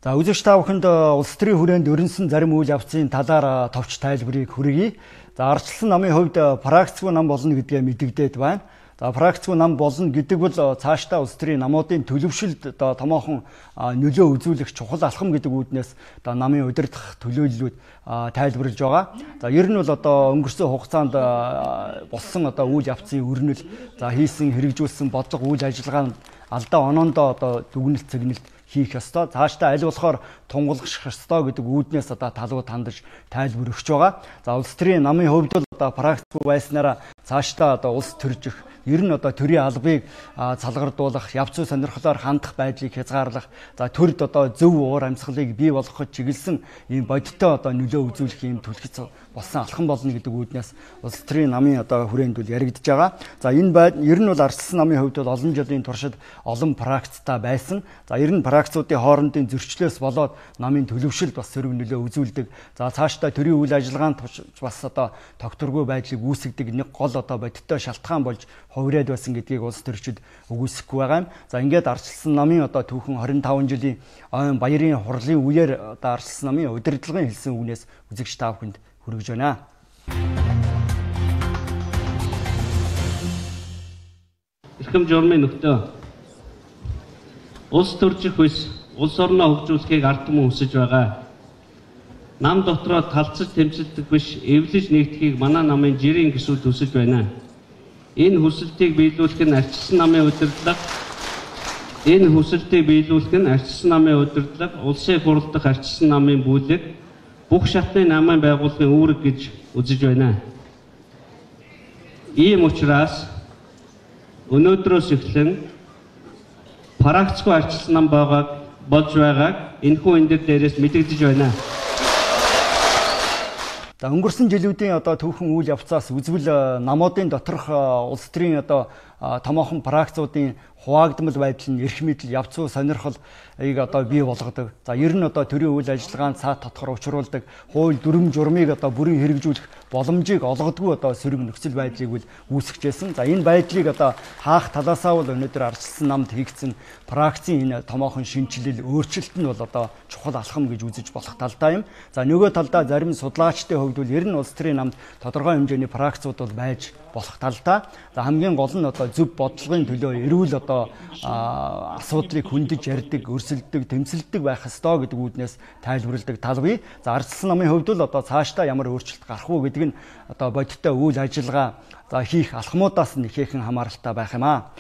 За үзэгч та бүхэнд улс төрийн хүрээнд өрнсөн зарим үйл явцын талаар товч тайлбарыг хүргэе. За ардчилсан намын хувьд практикгүй нам болно гэдгээ мэдэгдээд байна. За практикгүй нам болно гэдэг бол цаашдаа улс төрийн намуудын төлөвшөлд томоохон нөлөө үзүүлэх чухал алхам гэдэг үүднээс намын удирдах төлөөллүүд тайлбарлаж байгаа. За ер нь бол одоо өнгөрсөн хугацаанд болсон одоо үйл явцын өрнөл, за хийсэн хэрэгжүүлсэн бодлого үйл ажиллагаанд алдаа оноондоо одоо дүгнэлт цэгнэлт хийх ёстой. Цаашдаа аль болохоор тунгалах ёстой гэдэг үүднээс одоо талууд хандаж тайлбар өгч байгаа. За улс төрийн намын хувьд бол одоо практикгүй байснараа цаашдаа одоо улс төржих, ер нь одоо төрийн албыг салгардуулах, явц зүй сонирхлоор хандах байдлыг хязгаарлах, за төрд одоо зөв уур амьсгалыг бий болгоход чиглэсэн ийм бодиттой одоо нөлөө үзүүлэх ийм түлхэц болсон алхам болно гэдэг үүднээс улс төрийн намын одоо хүрээнд бол яригдж байгаа. За энэ ер нь бол ардчилсан намын хувьд бол олон жилийн туршид олон практиктай байсан. За ер нь практикуудын хоорондын зөрчлөөс болоод намын төлөвшөлд бас сөрөг нөлөө үзүүлдэг. За цаашдаа төрийн үйл ажиллагаанд бас одоо тогтворгүй байдлыг үүсгдэг нэг гол одоо бодиттой шалтгаан болж хувираад байсан гэдгийг улс төрчид үгүйсэхгүй байгаа юм. За ингээд ардчилсан намын одоо түүхэн 25 жилийн ойн баярын хурлын үеэр одоо ардчилсан намын удирдлагын хэлсэн үгнээс үзэгч та бүхэнд хүргэж байна. Эрхэм журмын нөхдөө, улс төржих бүс улс орноо хөгжүүлэхийг ард түмэн хүсэж байгаа. Нам дотроо талцаж тэмцэлдэх биш, эвлэж нэгдэхийг манай намын жирийн гишүүд хүсэж байна. Энэ хүсэлтийг биелүүлэх нь ардчилсан намын удирдлага, улсын хурал дахь ардчилсан намын бүлэг бүх шатны намын байгууллагын үүрэг гэж үзэж байна. Ийм учраас өнөөдрөөс эхлэн практикгүй ардчилсан нам болж байгааг энэхүү энэ дээрээс мэдэгдэж байна. За өнгөрсөн жилүүдийн одоо түүхэн үйл явцаас үзвэл намуудын доторх улс төрийн одоо томоохон практикуудын хуваагдмал байдал нь эрх мэдэл, явц зүй сонирхлыг одоо бий болгодог. За ер нь одоо төрийн үйл ажиллагаанд цаат тодхор учруулдаг, хууль дүрм журмыг одоо бүрэн хэрэгжүүлэх боломжийг олгодгүй одоо сөрөг нөхцөл байдлыг үүсгэжсэн. За энэ байдлыг одоо хаах талаасаа бол өнөөдөр ардчилсан намд хийгдсэн практикийн энэ томоохон шинжилэл, өөрчлөлт нь бол одоо чухал алхам гэж үзэж болох талдаа юм. За нөгөө талдаа зарим судлаачдын хувьд бол ер нь улс төрийн намд тодорхой хэмжээний практикууд бол байж болох талдаа. За хамгийн гол нь одоо зөв бодлогын төлөө эрүүл одоо асуудлыг хүндэж ярьдаг, өрсөлддөг, тэмцэлддэг байх ёстой гэдэг үүднээс тайлбарладаг тал бий. За ардчилсан намын хувьд л одоо цаашдаа ямар өөрчлөлт гарах уу гэдэг нь одоо бодиттой үйл ажиллагаа хийх алхмуудаас нь ихээхэн хамааралтай байх юм аа.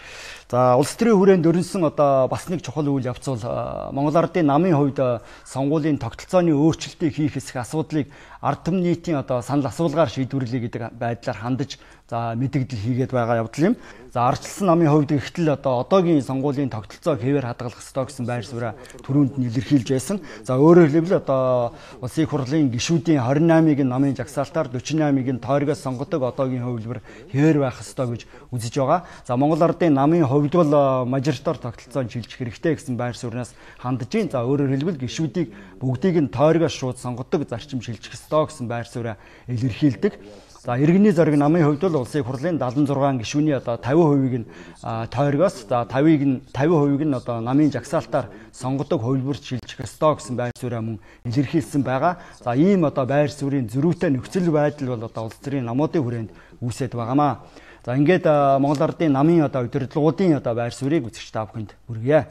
За улс төрийн хүрээнд өрнсөн одоо бас нэг чухал үйл явц бол Монгол Ардын намын хувьд сонгуулийн тогтолцооны өөрчлөлтийг хийх хэсэг асуудлыг ард түмэн нийтийн одоо санал асуулгаар шийдвэрлэе гэдэг байдлаар хандаж мэдэгдэл хийгээд байгаа явдал юм. За ардчилсан намын хувьд ихтэл одоо одоогийн сонгуулийн тогтолцоог хэвээр хадгалах ёстой гэсэн байр сууриа түрүүнд нь илэрхийлж байсан. За өөрөөр хэлбэл одоо улсын хурлын гишүүдийн 28-ыг нь намын жагсаалтаар, 48-ыг нь тойрогоос сонгодог одоогийн хувилбар хэвээр байх ёстой гэж үзэж байгаа. За Монгол Ардын намын хувьд бол мажоритар тогтолцоонд шилжих хэрэгтэй гэсэн байр сууриас хандж байна. За өөрөөр хэлбэл гишүүдийг бүгдийг нь тойрогоос шууд сонгодог зарчим шилжих ёстой гэсэн байр сууриа илэрхийлдэг. За иргэний зориг намын хувьд бол улсын хурлын 76 гишүүний одоо 50%-ийг нь тойрогоос, за 50%-ийг нь одоо намын жагсаалтаар сонгодог хувилбарт шилжих ёстой гэсэн байр сууриа мөн илэрхийлсэн байгаа. За ийм одоо байр суурийн зөрүүтэй нөхцөл байдал бол одоо улс төрийн намуудын хүрээнд үүсэт байгаамаа. За ингээд Монгол Ардын намын удирдлагуудын байр суурийг үзэгч та бүхэнд хүргье.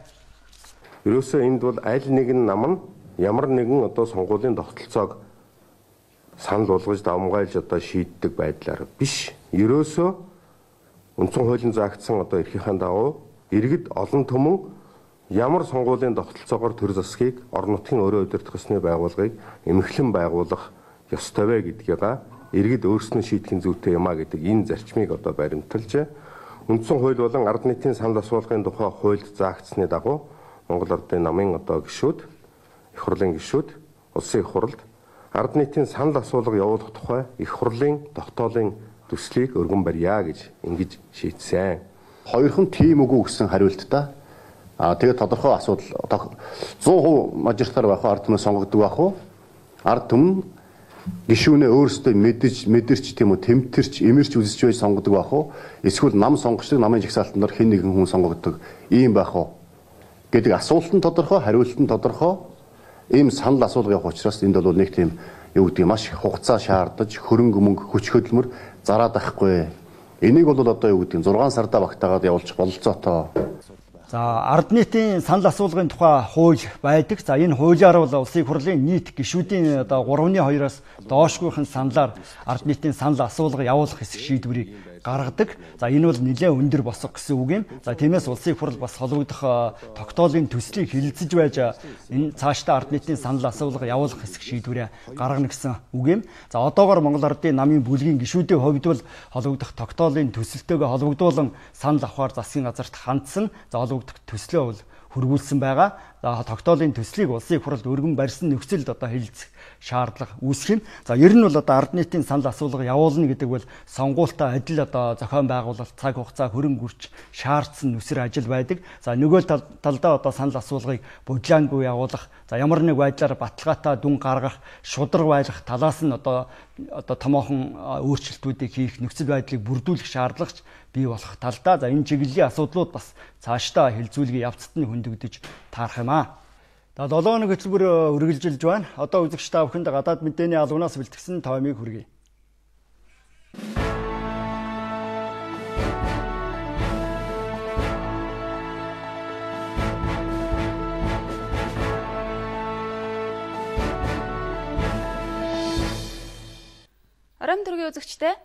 Ерөөсөө энд бол аль нэгэн нам нь ямар нэгэн сонгуулийн тогтолцоог санал болгож давмгайлж шийддэг байдлаар биш. Ерөөсөө үндсэн хуулийн заагдсан эрхийнхээ дагуу иргэд олон түмэн ямар сонгуулийн тогтолцоогоор төр засгийг орон нутгийн өөрөө удирдах ёсны байгууллагыг эмхлэн байгуулах ёстой вэ гэдгийг иргэд өөрснөө шийдэхин зүйтэй юм а гэдэг энэ зарчмыг баримталж үндсэн хууль болон ард нийтийн санал асуулгын тухай хуульд заагдсны дагуу Монгол Ардын намын гишүүд, их хурлын гишүүд, улсын их хуралд ард нийтийн санал асуулга явуулах тухай их хурлын тогтоолын төслийг өргөн барья гэж ингэж шийдсэн. Хоёрхан тийм үгүй гэсэн хариулттай. Тэгээд тодорхой асуудал 100% мажоритар байх ард түмэн сонгогддог байх уу? Ард түмэн гишүүнээ өөрсдөө мэдэрч тийм үү тэмтэрч эмэрч үзэж байж сонгодог байх уу? Эсвэл нам сонгогчдыг намын жагсаалтанд хэн нэгэн хүн сонгогддог ийм байх уу? Гэдэг асуулт нь тодорхой, хариулт нь тодорхой. Ийм санал асуулга явах учраас энд бол нэг тийм маш хугацаа шаардаж, хөрөнгө мөнгө, хүч хөдөлмөр зараад байхгүй. Энийг бол 6 сардаа багтаагаад явуулж бололцоотой. За ард нийтийн санал асуулгын тухай хууль байдаг. За энэ хуулиар бол улсын хурлын нийт гишүүдийн 3/2-оос доошгүйхэн саналаар ард нийтийн санал асуулга явуулах хэсэг шийдвэрийг гаргадаг. За энэ бол нэлээд өндөр босго гэсэн үг юм. За тиймээс улсын хурл бас холбогдох тогтоолын төслийг хилцэж байж энэ цаашдаа ард нийтийн санал асуулга явуулах хэсэг шийдвэрээ гаргана гэсэн үг юм. За одоогоор Монгол Ардын намын бүлгийн гишүүдийн хувьд бол холбогдох тогтоолын төсөлтөөгөө холбогдуулан санал авахар засгийн газарт хандсан. За холбогдох төслөө бол хөрвүүлсэн байгаа. За тогтоолын төслийг улсын хурлд өргөн барьсан нөхцөлд хэлэлцэх шаардлага үүсэх юм. За ер нь бол ард нийтийн санал асуулга явуулна гэдэг бол сонгуультай адил зохион байгуулалт, цаг хугацаа, хөрөнгө үрч шаардсан нүсэр ажил байдаг. За нөгөө талдаа санал асуулгыг бодлоонгүй явуулах, за ямар нэг байдлаар баталгаатай дүн гаргах, шудраг байлгах талаас нь томоохон өөрчлөлтүүдийг хийх, нөхцөл байдлыг бүрдүүлэх шаардлагач бий болох талдаа за энэ чиглэлийн асуудлууд бас цаашдаа хилцүүлгийн явцад нь хөндөгдөж таарах юм аа. За 7 хоног хөтөлбөр үргэлжилж байна. Одоо үзэгч та бүхэнд гадаад мэдээний албанаас бэлтгэсэн таймыг хүргэе. Оройн төргийн үзэгчтэй.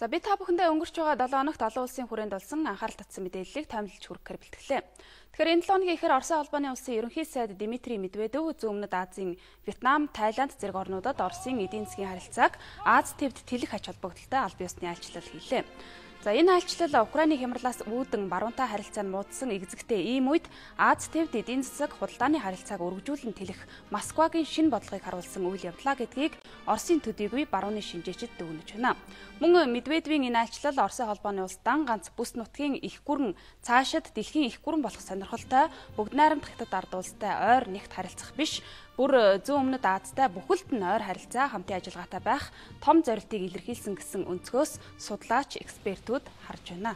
За би та бүхэндээ өнгөрч байгаа 7 хоногт олон улсын хүрээнд болсон анхаарал татсан мэдээллийг таймлж хүргэхээр бэлтгэлээ. Тэгэхээр энэ 7 хоногийн ихэр Оросын холбооны улсын ерөнхий сайд Дмитрий Медведев Зүүн өмнөд Азийн Вьетнам, Тайланд зэрэг орнуудад Оросын эдийн засгийн харилцааг Аз тэвд тэлэх ач холбогдолтой аль биесны айлчлал хийлээ. За энэ айлчлал Украины хямралаас үүдэн баруунтай харилцаа нь муудсан экзэгтэй ийм үед Аз тэвд эдийн засаг худалдааны харилцааг өргөжүүлэн тэлэх Москвагийн шинэ бодлогыг харуулсан үйл явдлаа гэдгийг Оросын төдийгүй барууны шинжээчид дүгнэж байна. Мөн Медведевийн энэ айлчлал Оросын холбооны улс дан ганц бүс нутгийн их гүрэн цаашид дэлхийн их гүрэн болох сонирхолтой бүгд найрамдах хятад ард улстай ойр нэгт харилцах биш, бүр зүүн өмнөд Азтай бүхэлд нь ойр харилцаа хамтын ажиллагаатай байх том зорилтыг илэрхийлсэн гэсэн өнцгөөс судлаач экспертүүд харж байна.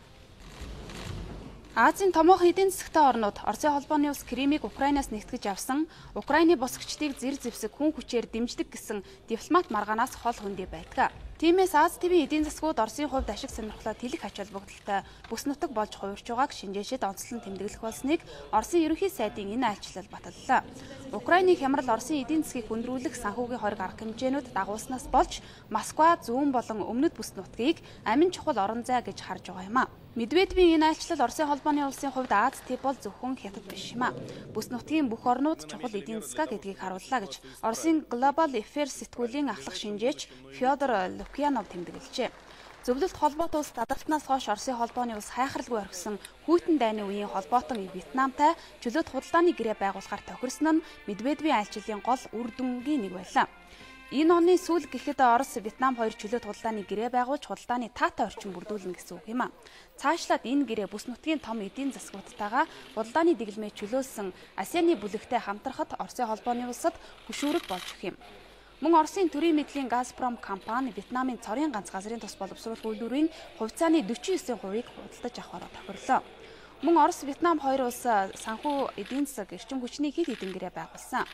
Азийн томоохон эдийн засагтай орнууд Оросын холбооны улс Кримийг Украинаас нэгтгэж авсан, Украины босгочдыг зэр зэвсэг хүн хүчээр дэмждэг гэсэн дипломат маргаанаас хол хөндий байдаг. Тиймээс Аз тэвийн эдийн засгууд Оросын хувьд ашиг сонирхлоо тэлэх ач холбогдолтой бүс нутаг болж хувирч байгааг шинжээчид онцлон тэмдэглэх болсныг Оросын ерөнхий сайдын энэ айлчлал баталлаа. Украины хямрал Оросын эдийн засгийг хүндрүүлэх санхүүгийн хориг арга хэмжээнүүд дагуулснаас болж Москва зүүн болон өмнөд бүс нутгийг амин чухал орон зай гэж харж байгаа юм а. Медведевийн энэ айлчлал Оросын холбооны улсын хувьд Аз тэв бол зөвхөн хятад биш юм а. Бүс нутгийн бүх орнууд чухал эдийн засаг гэдгийг харууллаа гэж Оросын Global Affairs сэтгүүлийн ахлах шинжээч Фёдор Лукьянов тэмдэглэжээ. Зөвлөлт холбоотой улс дадарснаас хойш Оросын холбооны улс хайхралгүй орхисон хүйтэн дайны үеийн холбоотон Вьетнамтай чөлөөт худалдааны гэрээ байгуулахаар тохирсон нь Медведевийн айлчлалын гол үр дүнгийн нэг байлаа. Энэ оны сүүл гэхэд Орос Вьетнам хоёр чөлөөт худалдааны гэрээ байгуулж худалдааны таатай орчин бүрдүүлнэ гэсэн үг юм а. Цаашлаад энэ гэрээ бүс нутгийн том эдийн засгуудтайгаа худалдааны дэглэмээ чөлөөлсөн ASEAN-ы бүлэгтэй хамтрахад Оросын холбооны улсад хөшүүрэг болж өгөх юм. Мөн Оросын төрийн мэдлийн Газпром компани Вьетнамын цорын ганц газрын тус боловсруулах үйлдвэрийн хувьцааны 49%-ийг худалдаж авахаар тохирлоо. Мөн Орос, Вьетнам хоёр улс санхүү эдийн засаг эрчим хүчний хэд хэдэн гэрээ байгуулсан.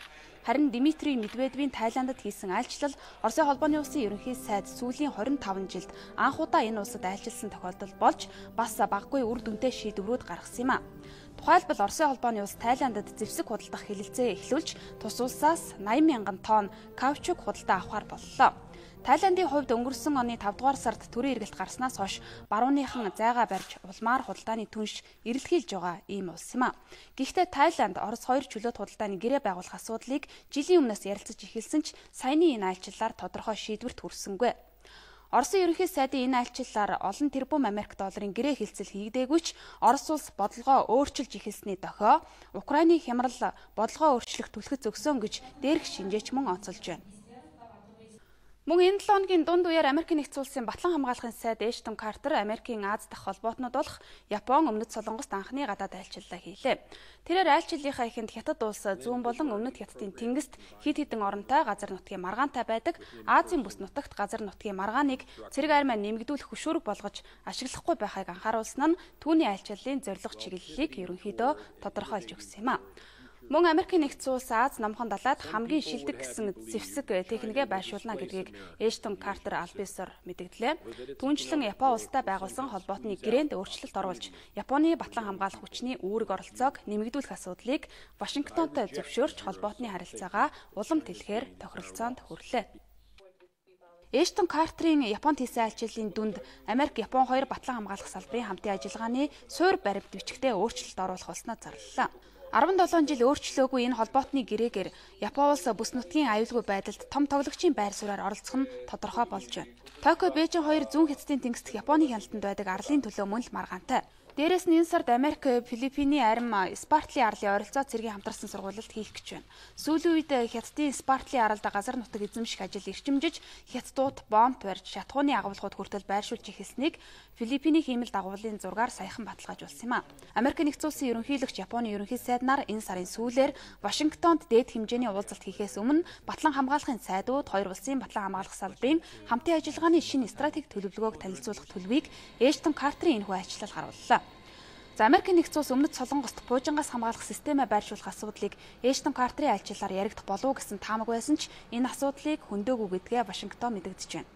Харин Дмитрий Медведевийн Тайландд хийсэн айлчлал Оросын холбооны улсын ерөнхий сайд сүүлийн 25 жилд анх удаа энэ улсад айлчилсан тохиолдол болж бас баггүй үр дүнтэй шийдвэрүүд гаргасан юм а. Тухайлбал Оросын холбооны улс Тайландд зэвсэг худалдах хэлэлцээ эхлүүлж тус улсаас 80 мянган тонн каучук худалдаа авахар боллоо. Тайландын хувьд өнгөрсөн оны 5 дугаар сард төрийн эргэлт гарснаас хойш барууныхан зайгаа барьж улмаар худалдааны түнш эрэлхийлж байгаа ийм улс юм а. Гэхдээ Тайланд Орос хоёр чөлөөт худалдааны гэрээ байгуулах асуудлыг жилийн өмнөөс ярилцаж эхэлсэн ч саяны энэ айлчлалаар тодорхой шийдвэрт хүрсэнгүй. Оросын ерөнхий сайдын энэ айлчлалаар олон тэрбум Америк долларын гэрээ хэлцэл хийгдээгүй ч Орос улс бодлогоо өөрчилж эхэлсний дохио Украины хямрал бодлогоо өөрчлөх түлхэц өгсөн гэж дээрх шинжээч мөн онцолж байна. Мөн энэ 7 хоногийн дунд үеэр Америкийн нэгдсэн улсын батлан хамгаалахын сайд Эштон Картер Америкийн Аз дахь холбоотнууд болох Япон, Өмнөд Солонгост анхны гадаад айлчлалаа хийлээ. Тэрээр айлчлалынхаа эхэнд Хятад улс зүүн болон Өмнөд Хятадын тэнгист хэд хэдэн оронтой газар нутгийн маргаантай байдаг Азийн бүс нутагт газар нутгийн маргааныг цэрэг армиа нэмэгдүүлэх хөшүүрэг болгож ашиглахгүй байхыг анхааруулсан нь түүний айлчлалын зорилго чиглэлийг ерөнхийдөө тодорхойлж өгсөн юм а. Мөн Америкийн нэгдсэн улс Аз намхан далайд хамгийн шилдэг гэсэн зэвсэг техникээ байршуулна гэдгийг Эштон Картер аль биесээр мэдэгдлээ. Түүнчлэн Япон улстай байгуулсан холбоотны гэрээнд өөрчлөлт оруулж Японы батлан хамгаалах хүчний үүрэг оролцоог нэмэгдүүлэх асуудлыг Вашингтонтой зөвшөөрч холбоотны харилцаагаа улам тэлэхээр тохиролцоонд хүрлээ. Эштон Картерийн Японд хийсэн айлчлалын дүнд Америк Япон хоёр батлан хамгаалах салбарын хамтын ажиллагааны суурь баримт бичгтээ өөрчлөлт оруулах болсноо зарлалаа. 17 жил өөрчлөөгүй энэ холбоотны гэрээгээр Япон улс бүс нутгийн аюулгүй байдалд том тоглогчийн байр сууриаар оролцох нь тодорхой болж байна. Токио, Бээжин хоёр зүүн хятадын тэнгист Японы хяналтанд байдаг арлын төлөө мөн л маргаантай. Дээрээс нь энэ сард Америк Филиппиний арим Спартлийн арлын ойролцоо цэргийн хамтарсан сургуульд хийх гэж байна. Сүүлийн үед Хятадын Спартлийн аралд газар нутаг эзэмших ажил эрчимжиж Хятадууд бомб барьж шатхууны агуулгууд хүртэл байршуулж эхэлснийг Филиппиний хиймэл дагуулын зургаар саяхан баталгаажуулсан юм а. Америкийн нэгдсэн улсын ерөнхийлөгч Японы ерөнхий сайднаар энэ сарын сүүлээр Вашингтонд дээд хэмжээний уулзалт хийхээс өмнө батлан хамгаалахын сайдууд хоёр улсын батлан хамгаалах салбарын хамтын ажиллагааны шинэ стратеги төлөвлөгөөг танилцуулах төлөвийг Эштон Картерийн энэхүү айлчлал гаргууллаа. За Америкийн нэгдсэн улс Өмнөд Солонгост буужингаас хамгаалах системээ байршуулах асуудлыг Эштон Картерийн айлчлалаар яригдах болов уу гэсэн таамаг байсан ч энэ асуудлыг хөндөөгүй гэдгээ Вашингтон мэдэгдэж байна.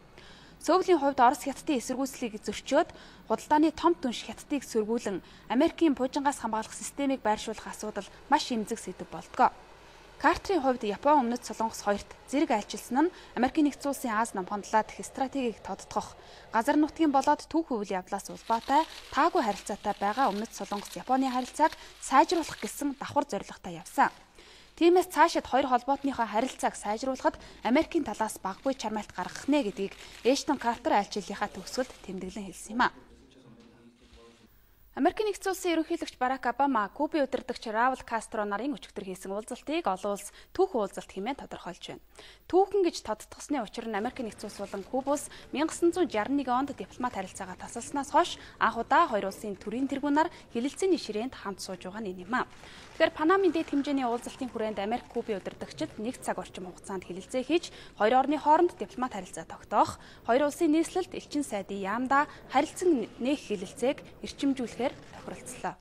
Сөүлийн хувьд Орос Хятадын эсэргүүцлийг зөрчөөд худалдааны том түнш Хятадыг сөргүүлэн Америкийн буужингаас хамгаалах системийг байршуулах асуудал маш эмзэг сэдэв болдгоо. Картерийн хувьд Япон, Өмнөд Солонгос хоёрт зэрэг айлчилсан нь Америкийн нэгдсэн улсын Аз намхан далай дэх стратегийг тодтогох, газар нутгийн болоод түүх үйл явдлаас улбаатай таагүй харилцаатай байгаа Өмнөд Солонгос Японы харилцааг сайжруулах гэсэн давхар зорилготой явсан. Тиймээс цаашид хоёр холбоотныхоо харилцааг сайжруулахад Америкийн талаас баггүй чармайлт гаргах нэ гэдгийг Эштон Картер айлчлалынхаа төгсгөлд тэмдэглэн хэлсэн юм а. Америкийн нэгдсэн улсын ерөнхийлөгч Барак Обама Кубын удирдагч Раул Кастро нарын өчигдөр хийсэн уулзалтыг олон улс түүхэн уулзалт хэмээн тодорхойлж байна. Түүхэн гэж тодтогсны учир нь Америкийн нэгдсэн улс болон Куба улс 1961 онд дипломат харилцаагаа тасалснаас хойш анх удаа хоёр улсын төрийн тэргүүнаар хилэлцээний ширээнд хамт сууж байгаа нь энэ юм а. Тэгэхээр Панамын дэд хэмжээний уулзалтын хүрээнд Америк Кубын удирдагчид 1 цаг орчим хугацаанд хилэлцээ хийж хоёр орны хооронд дипломат харилцаа тогтоох, хоёр улсын нийслэлд элчин сайдын яамда харилцан нээх хилэлцээг эрчимжүүлэхээр тохиролцлоо.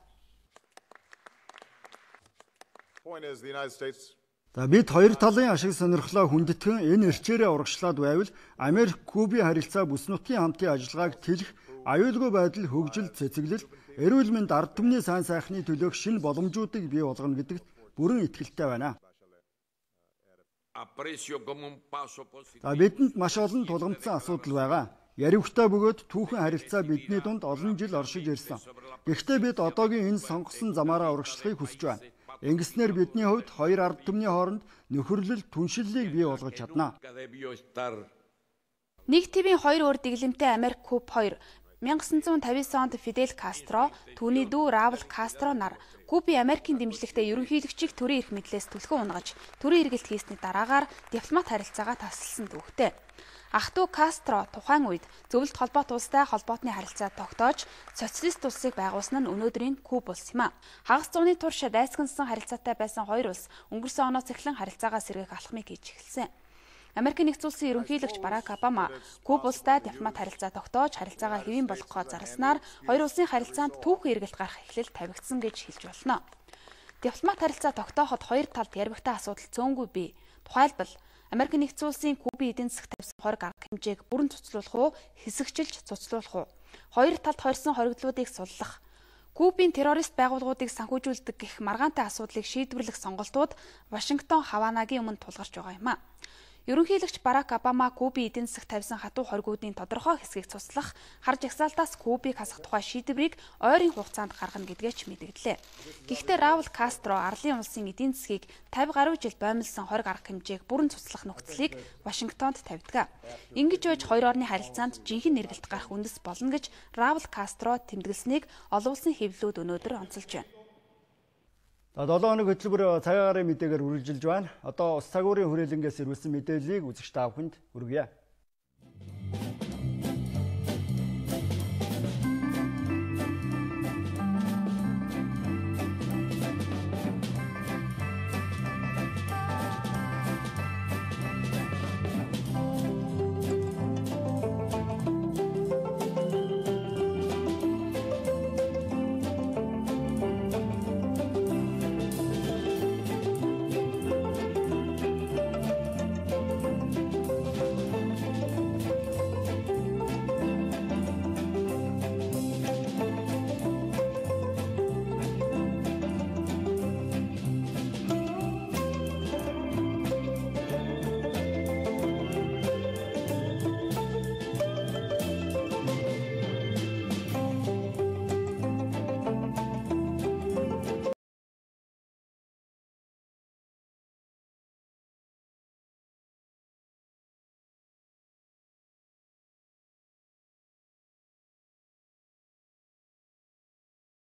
За бид хоёр талын ашиг сонирхлоо хүндэтгэн энэ эрчээрээ урагшлаад байвал Америк Кубын харилцаа бүс нутгийн хамтын ажиллагааг тэлэх, аюулгүй байдал, хөгжил, цэцэглэл, эрүүл мэнд, ард түмний сайн сайхны төлөөх шинэ боломжуудыг бий болгоно гэдэгт бүрэн итгэлтэй байна. Бидэнд маш олон тулгамдсан асуудал байгаа. Яривхтай бөгөөд түүхэн харилцаа бидний дунд олон жил оршиж ирсэн. Гэхдээ бид одоогийн энэ сонгосон замаараа урагшлахыг хүсэж байна. Ингэснээр бидний хувьд хоёр ард түмний хооронд нөхөрлөл, түншлэлийг бий болгож чадна. Нэг ТV-ийн хоёр өөр дэглэмтэй Америк Куб 2 1959 онд Фидель Кастро, түүний дүү Раул Кастро нар Кубын Америкийн дэмжлэгтэй ерөнхийлөгчийг төрийн эрх мэдлээс түлхэн унгаж, төрийн эргэлт хийсний дараагаар дипломат харилцаагаа таслсан дүүхтэй. Ах дүү Кастро тухайн үед зөвлөлт холбоот улстай холбоотны харилцаа тогтоож, социалист улсыг байгуулсан нь өнөөдрийн Куб улс юм а. Хагас зууны турш дайсагнасан харилцаатай байсан хоёр улс өнгөрсөн оноос эхлэн харилцаагаа сэргээх алхмыг хийж эхэлсэн. Америкийн нэгдсэн улсын ерөнхийлөгч Барак Обама Куба улстай дипломат харилцаа тогтоож харилцаагаа хэвийн болгохоо зарласнаар хоёр улсын харилцаанд түүхэн эргэлт гарах эхлэл тавигдсан гэж хэлж болно. Дипломат харилцаа тогтооход хоёр талд яригтай асуудал цөөнгүй бий. Тухайлбал Америкийн нэгдсэн улсын Кубын эдийн засаг тавьсан хориг арга хэмжээг бүрэн цуцлуулах уу, хэсэгчилж цуцлуулах уу? Хоёр талд хорьсон хоригдлуудыг суллах, Кубын террорист байгууллагуудыг санхүүжүүлдэг гэх маргаантай асуудлыг шийдвэрлэх сонголтууд Вашингтон Хаванагийн өмнө тулгарч байгаа юм а. Ерөнхийлөгч Барак Обама Кубын эдийн засаг тавьсан хатуу хоригуудын тодорхой хэсгийг цуслах, хар жагсаалтаас Кубыг хасах тухай шийдвэрийг ойрын хугацаанд гаргана гэдгээ ч мэдэгдлээ. Гэхдээ Раул Кастро арлын улсын эдийн засгийг 50 гаруй жил боомлсон хориг арга хэмжээг бүрэн цуслах нөхцөлийг Вашингтонд тавьдаг. Ингэж байж хоёр орны харилцаанд жинхэнэ эргэлт гарах үндэс болно гэж Раул Кастро тэмдэглэснийг олон улсын хэвлэлүүд өнөөдөр онцолж байна. 7 хоног хөтөлбөр цагаагаар мэдээгээр үргэлжилж байна. Одоо ус цагуурын хүрээлэнгээс ирүүлсэн мэдээллийг үзэгч та бүхэнд хүргье.